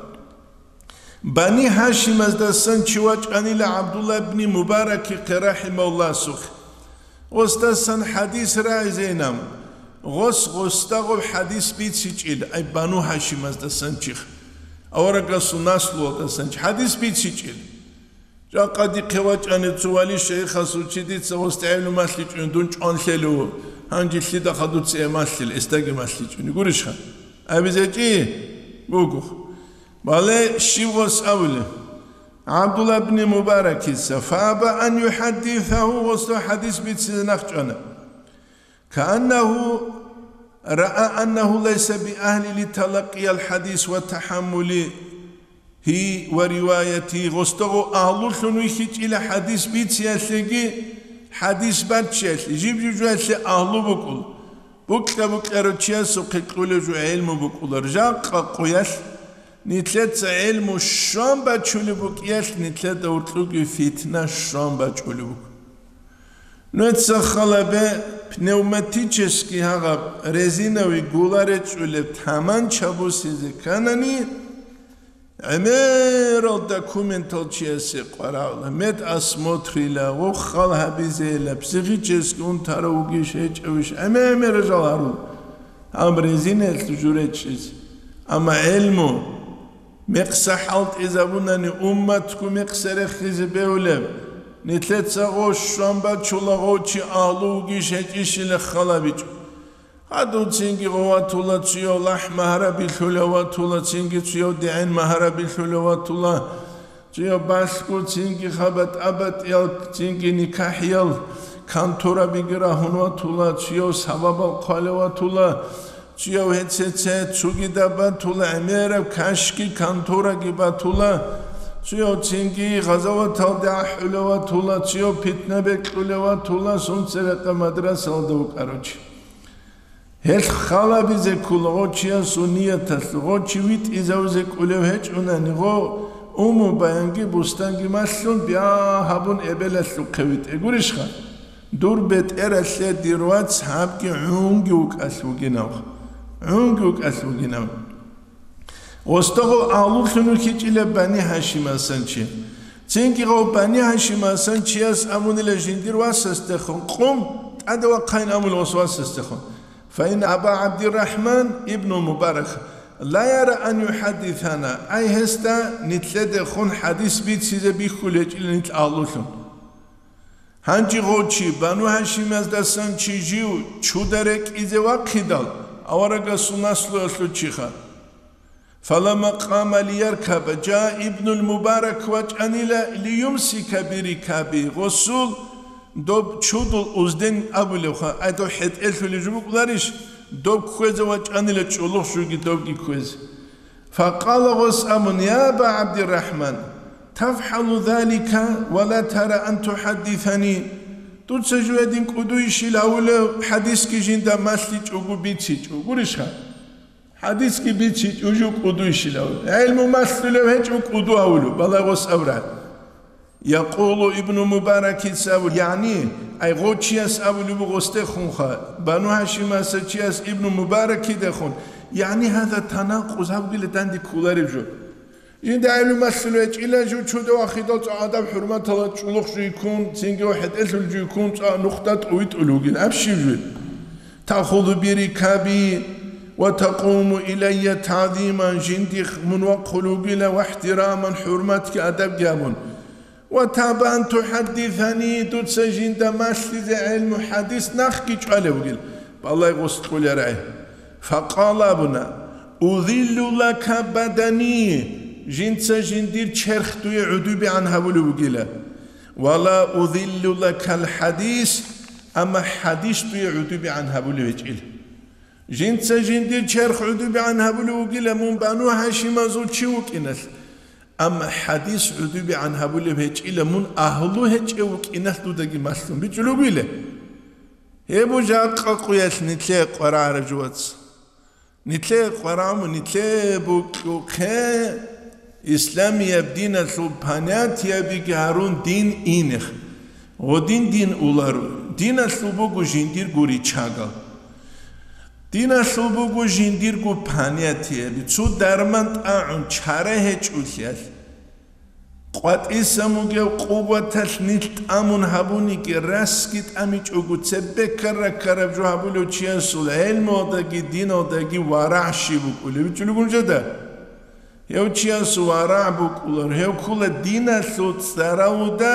Бани Гьашимаздасан чи вачӀанила ГӀабдулла ибни Мубаракихъе, рахӀимагьуллагьасухъе. Гъосдасан хӀадис рагӀизейилан, гъос гъосда гъоб хӀадис бицичӀел, ай, Бану Гьашимаздасан чихъ, аварагасул наслуялдасан чи хӀадис бицичӀел. Жакъа дихъе вачӀани цо вали шайихасул чи, дица гъосда гӀелму малъичӀони дун чӀван лъелев, гьанже лъида хадуца гьев малъила, гьесдаги малъичӀони гурищха? АбизечӀи буго. Бале, щиб гъос абулеб? ГӀабдулла ибни Мубаракица, фааба ан юхӀаддисагьу, гъосда хӀадис бицизе нахъчӀвана. Кааннагьу раа аннагьу лайса биагьлин литалаккиял хӀадис ва тахӀаммулигьи ва риваятигьи, гъосда гъо агьлулъун вихьичӀила хӀадис бициялъеги, хӀадис баччиялъе, жиб-жужуялъе агьлу букӀула. Букьа-букьарав чиясухъе кьолеб жо гӀелму букӀула. Жакъа къоялъ нилъеца гӀелму щван бачулеб букӀиялъ, нилъеда гьоркьоги фитна щван бачулеб буго. Нужеца халабе, пневматический гьагъаб резиновый гула речӀчӀулеб таманча бусизе кканани, гӀемерал документал чиясе къварагӀула, медосмотрила, гъо хал гьабизейила, психический унтарав вугищ гьечӀевищ, гӀемер-гӀемерал жал гьарула гьаб резинаялъ жо речӀчӀизе. Амма гӀелму мекъса хӀалтӀизабунани, умматго мекъса рехизе бегьулеб, нилъеца гъо щван бачула, гъо чи агьлу вугищ гьечӀищила халабичӀо. Гьадув цинги гъо ватула, цуяв лахӀ магьарабилъулев ватула, цинги цуяв дегӀен магьарабилъулев ватула, цуяв балъго, цинги хабатӀ-абатӀиял, цинги никахӀиял конторабиги рагьун ватула, цуяв сабабал хъвалев ватула, цуяв гьецеце цугида батула, гӀемераб кашги контораги батула, цуяв цинги гъазаваталде ахӀулев ватула, цуяв питна бекьулев ватула, сунцебекъа мадрасалда вукӀарав чи. Гьелъ халабизе ккола гъо чиясул нияталъ, гъо чи витӀизавизе кӀолев гьечӀунани, гъо уму баянги бустанги малъун, бя гьабун эбелалъухъе витӀе гурищха? Дур бетӀералъе дир вац гьабги гӀунги вукӀалъ вугинав. ГӀунги вукӀалъ вугинав. Гъосда гъо агьлулъун вихьичӀила Бани Гьашимасан чи. Цинги гъо Бани Гьашимасан чияс абунила жиндир васасдехун, къум тӀаде вахъайин абула гъос васасдехун. Фаин Аба ГӀабдиррахӀман ибну Мубарак, لا يرى أن يحدثنا, ай гьесда нилъедехун хӀадис бицизе бихьулеб гьечӀила нилъ агьлулъун. Гьанже гъов чи, Бану Гьашимаздасан чи жив чуда рекӀизе вахъидал, аварагасул наслуялъул чиха. فلما قام ليركب جاء ابن المبارك вачӀанила ليمسك بركابه, гъосул доб чудул узден абулебха, ай доб хӀетӀелъулеб жо букӀуларищ, доб кквезе вачӀанила чӀолохъ жуги добги кквезе. فقال, гъос абун: يا أبا عبد الرحمن, تفعل ذلك ولا ترى أن تحدثني؟ Дуца жугьедин кӀудуйищил гьавулев, хӀадисги жинда малъичӀого бицичӀо, гурищха? ХӀадисги бицичӀого кӀудуйищил гьавулев? ГӀелму малъулев гьечӀо кӀуду гьавулев, балагье гъос абураб. يقول ابن مبارك абу, ягӀни, ай гъов чияс абулеб буго гъосдехунха, Бану Гьашимаса чияс Ибну Мубаракидехун, ягӀни гьаза танакъуз гьабгила данде кколареб жо. Жинда гӀелму малъулев гьечӀила жив чуда вахъидал цӀакъ адаб-хӀурматалда чӀолохъ жуйккун, цинги хӀетӀелъул жуйккун цӀакъ нухда тӀувитӀулев вугин, аб щиб жив? تأخذ بركابي وتقوم إلي تعظيما, жиндихъ мун вахъулев вугила ва ихтираман, хӀурматги адабги гьабун. وتأبى أن تحدثني, дуца жинда малъизе гӀелму хӀадис нахъги чӀвалев вугил, балагье гъос кьоларай. فقال абуна: أذل لك بدني, жинца жиндир черх дуе гӀудубигӀан гьабулев вугила. ولا أذل لك الحديث, амма хӀадис дуе гӀудубигӀан гьабулев гьечӀила. Жинца жиндир черх гӀудубигӀан гьабулев вугила мун Бану Гьашимазул чи вукӀиналъ, амма хӀадис гӀудубигӀан гьабулеб гьечӀила мун агьлу гьечӀев вукӀиналъ дудаги малъун бичӀчӀулев вугила. Гьеб буго жакъа къуялъ нилъее къварагӀараб жо, вац. Нилъее къварагӀун, нилъее букӀухъе исламияб диналъул понятиябиги гьарун дин инехъ. Гъодин дин уларо. Диналъул буго жиндирго ричагал. Диналъул буго жиндирго понятияби. Цо дарман тӀагӀун чара гьечӀолъиялъ, къватӀисан бугеб къуваталъ нилъ тӀамун гьабуниги, расги тӀамичӀого, цебе ккара-ккараб жо гьабулев чиясул гӀелмуялдаги диналдаги варагӀ щиб букӀулеб? БичӀчӀулеб гьечӀо жинда. Гьев чиясул варагӀ букӀулар, гьев ккола диналъул цӀаравуда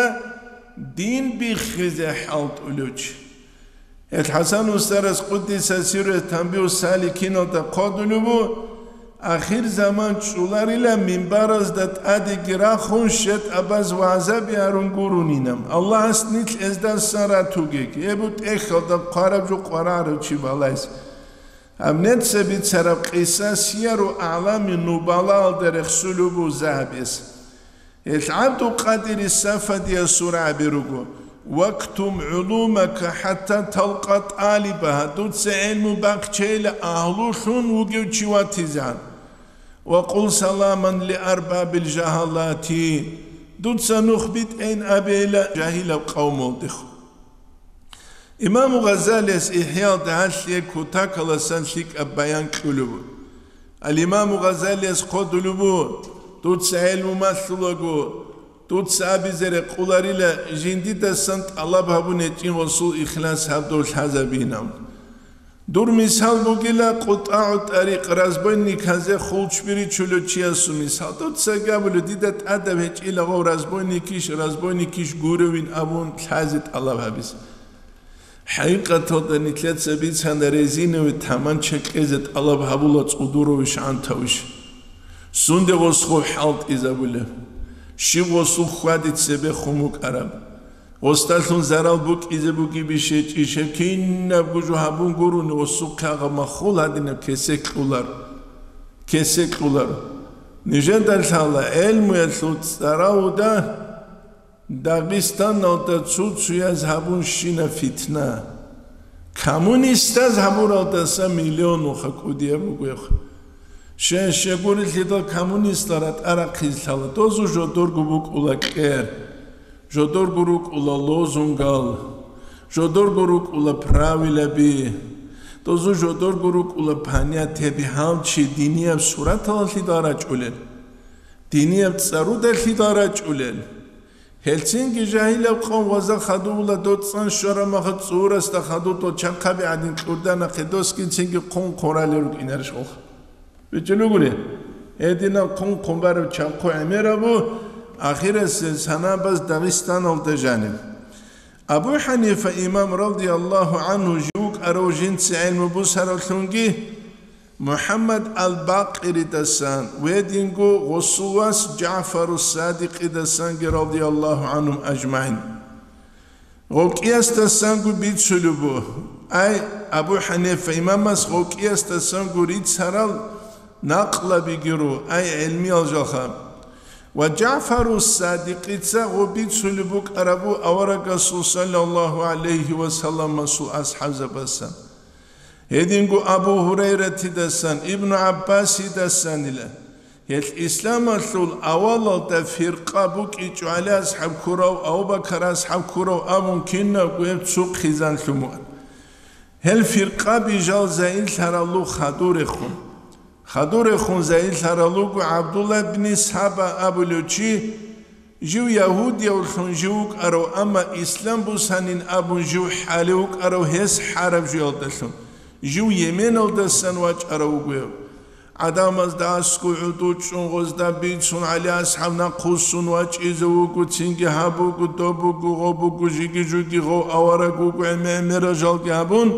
дин биххизе хӀалтӀулев чи. Гьел ХӀасан устарас, къуддиса сирругьу, Танбигьу саликиналда хъвалеб буго: ахирзаман чӀоларила минбаразда тӀадеги рахун щетӀабаз вагӀзаби гьарун гурунин. Аллагьас нилъ гьездасан ратугеги, гьеб буго тӀехьалда хъвараб жо къварагӀарав чи балагьизе. Гьаб нилъеца бицараб къиса Сияру АгӀлами Нубалаялда рехсулеб буго Загьабияс. Гьел ГӀабдулкъадири Сафадияс абулеб буго: واكتم علومك حتى تلقى طالبها, дуца гӀелму бахчейила агьлулъун вугев чи ватизегӀан. وقل سلاما لأرباب الجهالات, дуца нух битӀейин абейила жагьилаб къавмалдехун. Имаму Гъазалияс ИхӀяалда гьалъие кутакаласан лъикӀаб баян кьолеб буго. Ал-Имаму Гъазалияс хъвалеб буго: дуца гӀелму малъулаго, дуца абизе рекъоларила, жиндидасан тӀалаб гьабун гьечӀин гъосул ихлас гьабдул лъазабинав. Дур мисал бугила къутӀагӀу тӀарикъ, разбойниказе хулчби ричулев чиясул мисал. Дуцаги абулев, дида тӀадаб гьечӀила гъов разбойникищ, разбойникищ гуревин абун лъазе тӀалаб гьабизе. ХӀакъикъаталда нилъеца бицана резиновый таманча кьезе тӀалаб гьабула цӀудуровищ гӀантавищ. Сунде гъосул хӀалтӀизабулеб? Щиб гъосул хьвади цебехун букӀараб? Гъосдалъун зарал букӀизе бугебищ гьечӀищ, гьеб кинабго жо гьабун гурони гъосухъе гьагъаб маххул гьадинаб кесек кьолар. Кесек кьолар. Нижеда лъала гӀелмуялъул цӀаравуда Дагъистаналда цо-цояз гьабун щинаб фитна. Коммунистаз гьабуралдаса миллионуха кӀудияб бугоха. Щай-щай гурелъидал коммунистал ратӀа рахъизе лъала, дозу жодорго букӀула кьер, жодорго рукӀула лозунгал, жодорго рукӀула правилаби, дозу жодорго рукӀула понятияби, гьав чи динияб сураталалъидал рачӀулел, динияб цӀарудалъидал рачӀулел. Гьелцинги жагьилаб къавм ваза хадула доцӀан щвараб махал цӀурасда хадур дол чахъаби гӀадин кьурда нахъе досги цинги хъун хъуралел рукӀинарищ гъолха? БичӀчӀулугури, гьединаб хъун-хъун бараб чанхъу гӀемерабу, ахирасел санабаз Дагъистаналда жаниб. Абу ХӀанифа имам радияллагьу гӀангьу жив вукӀарав жинца гӀелму бусаравлъунги, МухӀаммад ал-Бакъиридасан ва гьединго гъосул вас ЖагӀфару Садикъидасанги радияллагьу гӀангьум ажмагӀин. Гъов кӀиясдасанго бицулеб буго, ай, Абу ХӀанифа имамас гъов кӀиясдасанго рицарал накълабиги ру, ай, гӀелмиял жалха. Ва ЖагӀфару Садикъица гъов бицулеб букӀарабу аварагасул саллаллагьу гӀалайгьи ва салламасул асхӀабзабасан. Гьединго Абу Гьурайратидасан, Ибну ГӀаббасидасанила. Гьелъ исламалъул авалалда фиркъа букӀичӀо, ГӀали асхӀаб ккурав, Абу Бакар асхӀаб ккурав абун кинабго гьеб цо хъизан лъумуан. Гьел фиркъаби жал загьирлъаралу хадурехун. Хадурехун загьирлъаралуго ГӀабдулла бни Саба абулев чи, жив ягьудиявлъун жив вукӀарав, амма ислам бусанин абун жив хӀалев вукӀарав гьес хӀараб жуялдалъун, жив Йеменалдасан вачӀарав вугев. ГӀадамазда аскӀов гӀуду чӀун гъозда бицун ГӀали асхӀаб нахъвуссун вачӀизе вуго, цинги гьаб буго, доб буго, гъоб буго, жиги-жуги гъов авараг вуго, гӀемер-гӀемерал жалги гьабун,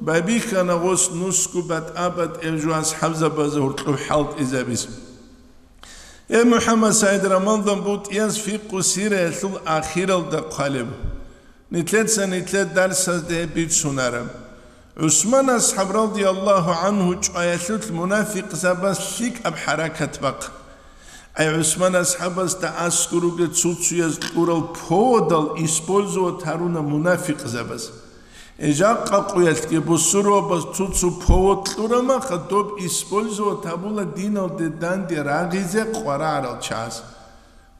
байбихьана гъос нусго батӀа-батӀияб жо асхӀабзабазе гьоркьоб хӀалтӀизабизе. Э, МухӀаммад СагӀид Рамазан БутӀияс фикъу сираялъул ахиралда хъвалеб. Нилъеца нилъер дарсазда гьеб бицунараб. ГӀусман асхӀаб радияллагьу гӀангьу чӀваялъулъ мунафикъзабаз лъикӀаб хӀаракат бахъ. Ай, ГӀусман асхӀабасда аскӀор ругел цуцуяз кьурал поводал использовать гьаруна мунафикъзабаз. Э, жакъа къуялъги бусурбабаз цуцу повод кьураб маха, доб использовать гьабула диналде данде рагъизе къварагӀарал чагӀаз.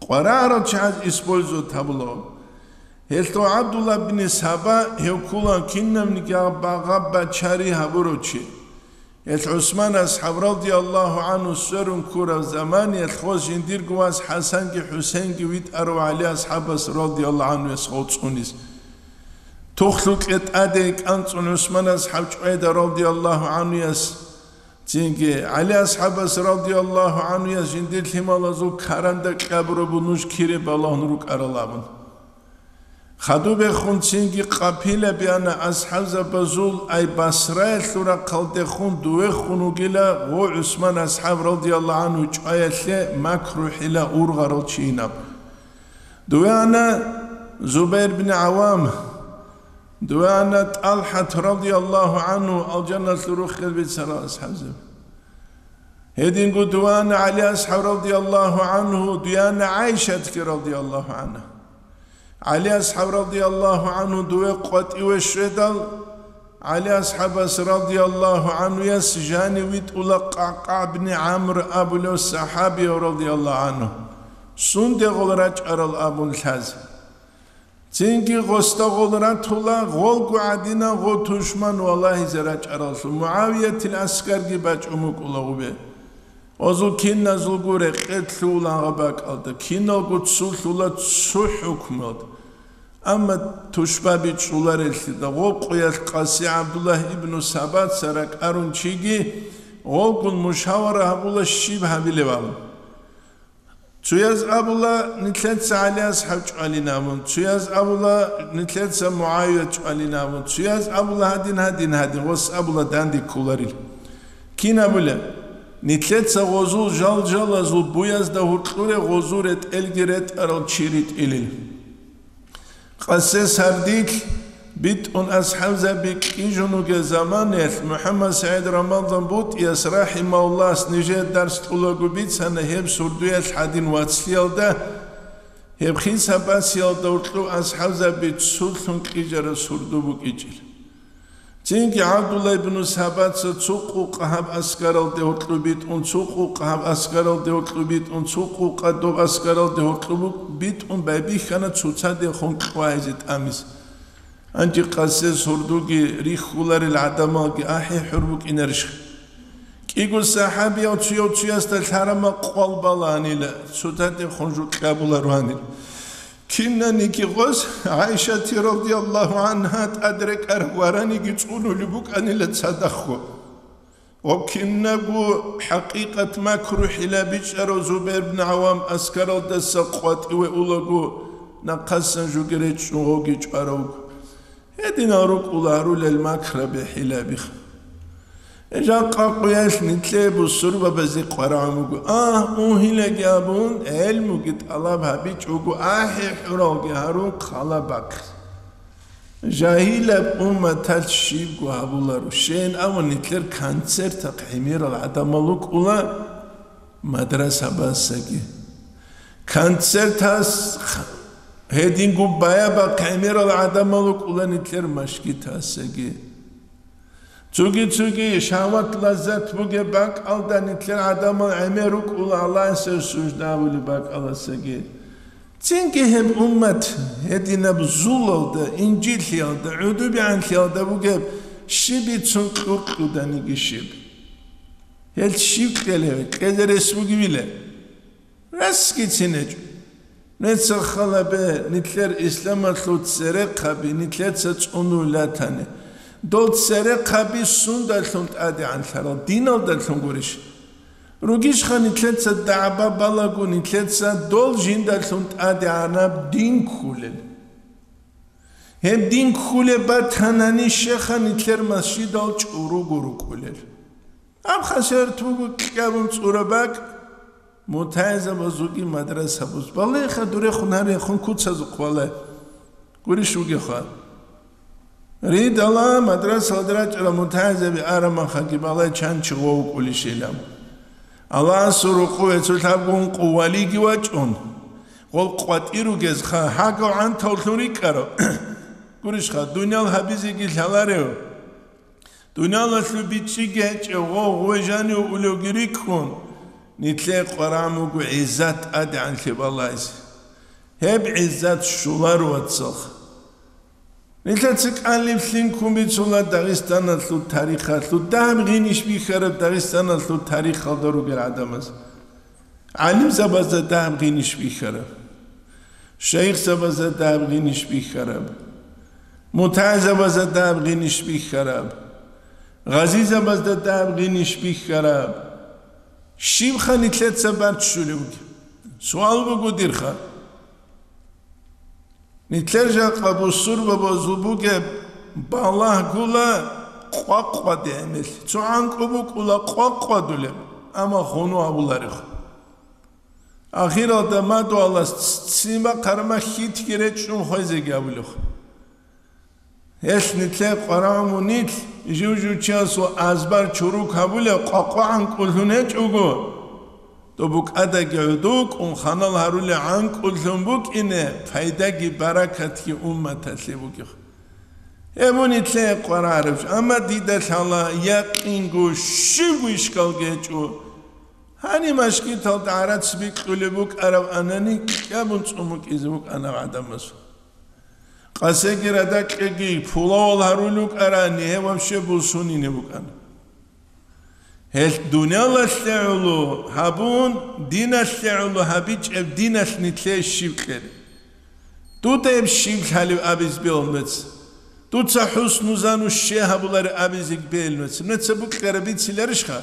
КъварагӀарал чагӀаз использовать гьабула. Гьелъул ГӀабдулла бин Саба гьев ккула кинабниги гьаб багъа бачари гьабурав чи. Гьелъ ГӀусман асхӀаб радияллагьу гӀангьу сверун ккураб заманиялъ гъос жиндирго вас ХӀасанги ХӀусейнги витӀарав ГӀали асхӀабас радияллагьу гӀангьуяс гъов цӀунис. Тухлъукье тӀаде кӀанцӀун ГӀусман асхӀаб чӀвайда радияллагьу гӀангьуяс, цинги ГӀали асхӀабас радияллагьу гӀангьуяс жиндир лъималазул каранда кьабурабу нуж кире балагьун рукӀарал абун. Хадубехун цинги къапила биана асхӀабзабазул, ай Басраялъул рахъалдехун дувехун вугила гъо ГӀусман асхӀаб радияллагьу гӀангьу чӀваялъе макру-хӀила ургъарал чийинаб. Дуве ана Зубайр бин ГӀавам, дуве ана ТӀалхӀат радияллагьу гӀангьу, алжаналъул руххел бицарал асхӀабзаб. Гьединго дуве ана ГӀали асхӀаб радияллагьу гӀангьу, дуе ана ГӀайшатги радияллагьу гӀангьа. ГӀали асхӀаб радияллагьу гӀангьу дуве къватӀиве щведал, ГӀали асхӀабас радияллагьу гӀангьуяс жанив витӀула КъакъагӀ бни ГӀамр абулев сахӀабияв радияллагьу гӀангьу, сундегъул рачӀарал абун лъазе. Цинги гъосда гъол ратула, гъолго гӀадинан гъо тушман валагьизе рачӀараллъун, МугӀавиятил аскарги бачӀун букӀула гъубе. Гъозул киназулго рекъе лъугьула гьаб бакӀалда, киналго цулъула цо хӀукмалда. Амма тушба бичӀчӀулареллъида, гъо къуялъ къаси ГӀабдуллагь ибну Сабаца ракӀарун чиги, гъолгун мушавара гьабула щиб гьабилеб абун. Цояз абула, нилъеца ГӀали асхӀаб чӀвалин абун, цояз абула, нилъеца МугӀавият чӀвалин абун, цояз абула, гьадин, гьадин, гьадин, гъос абула, данде кколарил. Кин абула, нилъеца гъозул жал-жалазул буязда гьуркьуре гъозул ретӀелги ретӀарал чи ритӀилил. Къасе сардилъ битӀун асхӀабзаби кьижун вугел заманаялъ МухӀаммад СагӀид Рамазан БутӀияс рахӀимагьуллагьас нижее дарс кьулаго бицана гьеб сурдуялъ гьадин вацлъиялда, гьеб хисаб басиялда гьоркьоб асхӀабзаби цулъун кьижараб сурду букӀичӀел. Цинги ГӀабдулла ибну Сабаца цо къукъа гьаб аскаралде гьоркьоб битӀун, цо къукъа гьаб аскаралде гьоркьоб битӀун, цо къукъа доб аскаралде гьоркьоб битӀун байбихьана цоцадехун кьвагьизе тӀамизе. Гьанже къасе сурдуги рихьуларел гӀадамалги ахӀи хӀур букӀинарищха? КӀиго сахӀабияв цояв цоясда лъарамал къвал балагьанила, цоцадехун жо кьабуларо гьанир. Кинаниги гъос ГӀайшати радияллагьу гӀангьа тӀад рекӀараб вараниги цӀунулеб букӀанила цадахъго. Гъоб кинабго хӀакъикъат макру-хӀила бичӀчӀарав Зубайр ибн ГӀавам аскаралдаса къватӀиве улаго, нахъасан жуги речӀчӀун гъовги чӀваравго. Гьединал рукӀула гьарулел макраби-хӀилаби. Жакъа къуялъ нилъее бусурбабазе къварагӀун буго: «Агь, угьилаги абун, гӀелмуги тӀалаб гьабичӀого, ахӀи-хӀуралги гьарун хъала бахъе». Жагьилаб умматалъ щибго гьабуларо, щайин абун нилъер концертахъ гӀемерал гӀадамал рукӀула мадрасабазсаги. Концертас гьединго баябахъ гӀемерал гӀадамал рукӀула нилъер машгитасаги. Цоги-цоги шагьват-лаззат бугеб бакӀалда нилъер гӀадамал гӀемер рукӀула Аллагьасе сужда гьабулеб бакӀалдасаги. Цинги гьеб уммат гьединаб зулалда, инжитлъиялда, гӀудубигӀанлъиялда бугеб, щиб бицун кьуркьуданиги щиб. Гьел щиб кьелев, кьезе рес бугевила? Расги цинечӀо. Нецер халабе, нилъер исламалъул церехъаби нилъеца цӀунулатани. Дол церехъаби сундалъун тӀадегӀанлъарал, диналдалъун гурищ? Ругищха нилъеца дагӀба балагу, нилъеца дол жиндалъун тӀадегӀанаб дин ккулел? Гьеб дин ккулеб батанани, щеха нилъер масжидал чӀуруго рукӀулел. Гьаб хасерт буго кьабун цӀураб бакӀ, мутагӀилзабазулги мадрасабуз. Балагьеха, дурехун гьарехун куцазухъ валай. Гурищ вугеха. Ридала мадрасалда рачӀарал мутагӀилзаби арамахаги балай чанчи гъов вукӀулищилан. Аллагьасул рукъу гьецул лъабгун къу валиги вачӀун, гъол къватӀир ругезха, гьагав гӀантавлъун рикӀкӀарав. Гурищха, дуниял гьабизеги лъаларев. Дуниялалъул бичӀчӀиги гьечӀев гъов гъве жанив улевги рикӀкӀун, нилъее къварагӀун буго гӀиззат тӀадегӀанлъи балайзе. Гьеб гӀиззат щоларо, вацал. Нилъеца кӀалиблъин ккун бицула Дагъистаналъул тарихалъул дагьаб гъиниш бихьараб, Дагъистаналъул тарихалда ругел гӀадамаз. ГӀалимзабазда дагьаб гъиниш бихьараб, шайихзабазда дагьаб гъиниш бихьараб, мутагӀилзабазда дагьаб гъиниш бихьараб, гъазизабазда дагьаб гъиниш бихьараб. Щибха нилъеца барччулев? Суал буго дирха. Нилъер жакъа бусурбабазул бугеб балагьгула къвакъваде гӀемер. Цо гӀанкӀу букӀула къвакъвадулеб, амма хьуну абуларехъ. Ахиралда мадугьалас ццин бахъарма хьитги речӀчӀун хвезеги абулехъ. Гьелъ нилъее къварагӀун мунилъ жив-жив чиясул азбар чурукабулеб къвакъвагӀанкӀулъун гьечӀого, доб букӀадаги гӀодов вукӀун ханал гьарулел гӀанкӀулъун букӀине пайдаги баракатги умматалъе бугех. Гьеб мун нилъее къварагӀараб жо, амма дида лъала якъинго щибго ишкалги гьечӀо. Гьаниб машгиталда гӀарац бикьулеб букӀараб анани кьабун цӀун букӀизе букӀана гӀадамаз. Къасеги радакьеги пулавал гьарулел рукӀарани, гьев вообще бусунине букӀана. Гьелъ дуниялалъе гӀоло гьабун, диналъе гӀоло гьабичӀеб диналъ нилъее щиб кьел? Дуда гьеб щиб лъалеб абизе бегьул нуца? Дуца хӀусну занну щай гьабулареб абизе бегьул нуца? Нуца букьараб бициларищха?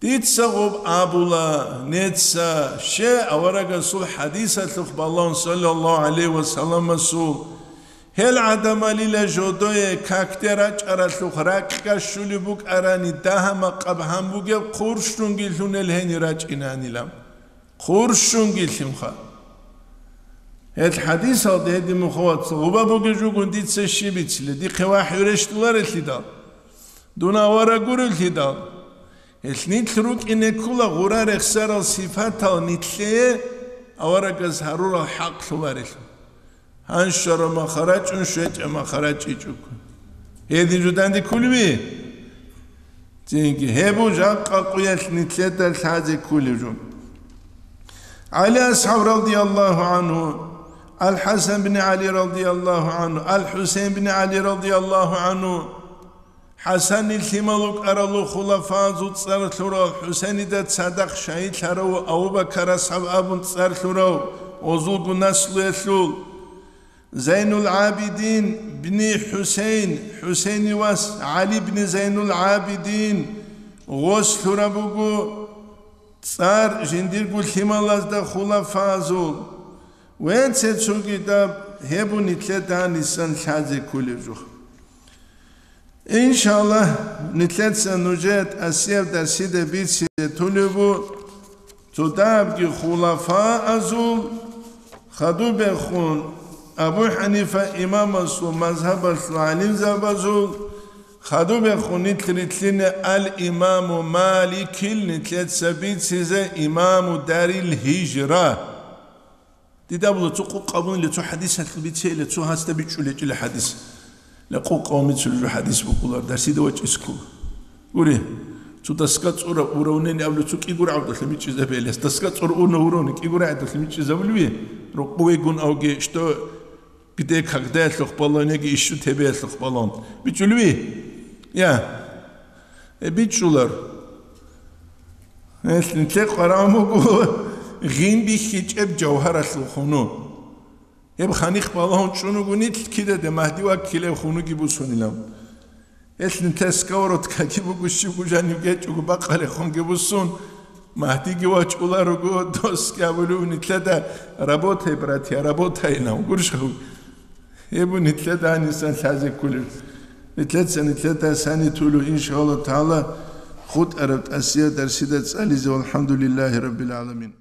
Дица гъоб абула, неца щай аварагасул хӀадисалъухъ балагьун, саллаллагьу гӀалайгьи ва салламасул, гьел гӀадамалила жодое какде рачӀаралъухъ ракьа щулеб букӀарани дагьа-макъаб гьан бугеб хъурщунги лъунел гьенир рачӀинанила. Хъурщунги лъимха. Гьел хӀадисалда гьедин мухъаваца гъуба бугеб жугун дица щиб бицилеб, дихъе вахӀю рещтӀуларелъидал, дун авараг гурелъидал. Гьелъ нилъ рукӀине ккола гъура рехсарал сипатал нилъее аварагас гьарурал хӀакълъуларелъул. Гьанщаро махарачӀун щвечӀа махарачӀичӀого. Гьедин жо данде кколеви? Цинги гьеб жакъа къуялъ нилъеда лъазе кколев жо. ГӀали асхӀаб радияллагьу гӀангьу, Ал-ХӀасан бин ГӀали радияллагьу гӀангьу, Ал-ХӀусейн бин ГӀали радияллагьу гӀангьу, ХӀасанил лъимал вукӀаралу хулафазул цӀар лъурал, ХӀусейнида цадахъ шагьидлъарав Абу Бакар асхӀаб абун цӀар лъурав, гъозулгун наслуялъул, Зайнул ГӀабидин бни ХӀусейн, ХӀусейни вас ГӀали бни Зайнул ГӀабидин, гъос лъураб буго цӀар жиндирго лъималазда, хулафазул, ва цо-цоги даб гьеб нилъеда гьанисан лъазе кколеб жо. Иншаллагь, нилъеца нужее тӀасияб дарсида бицизе толеб буго цо дагьабги хулафаазул, хадубехун Абу Ханифа имамасул мазгьабалъул гӀалимзабазул, хадубехун нилъ рилълъине ал-Имаму Маликил нилъеца бицизе имаму дарил гьижра. Дида абула, цо къокъ абунила, цо хӀадисалъул бицейила, цо гьасда бичӀчӀулечӀила хӀадис. Ла къокъ абун бицулеб жо хӀадис букӀулар, дарсида вачӀискул. Гури, цо доска цӀура уравнение абула, цо кӀиго рагӀудалъа мичӀчӀизабе илас. Доска цӀура уна уравни кӀиго рагӀудалъа мичӀчӀизабулеби? Рокъовегун авги, что, где, когда ялъухъ баллон яги ищу тебе ялъухъ баллон. БичӀулеби? Я. Э, бичӀчӀулар. Гьелъ нилъер къварагӀун буго гъин бихьичӀеб жавгьаралъул хунугь. Гьеб ханихъ балагьун чӀун вуго нилъ кидаде Магьди ваккилев хунуги бусунилан. Гьелъ нилъер сковородкаги буго, щибго жанив гьечӀого бакъалехунги бусун, Магьдиги вачӀуларого, досги абулев нилъеда: «Работай, братья, работай», — нав гурищ гьав. Гьеб нилъеда гьанисан лъазе кколеб. Нилъеца нилъеда сани толев, иншаллагь тагӀала, хутӀараб тӀасияб дарсида цӀализе. Валхамдулиллагьи раббил гӀаламин.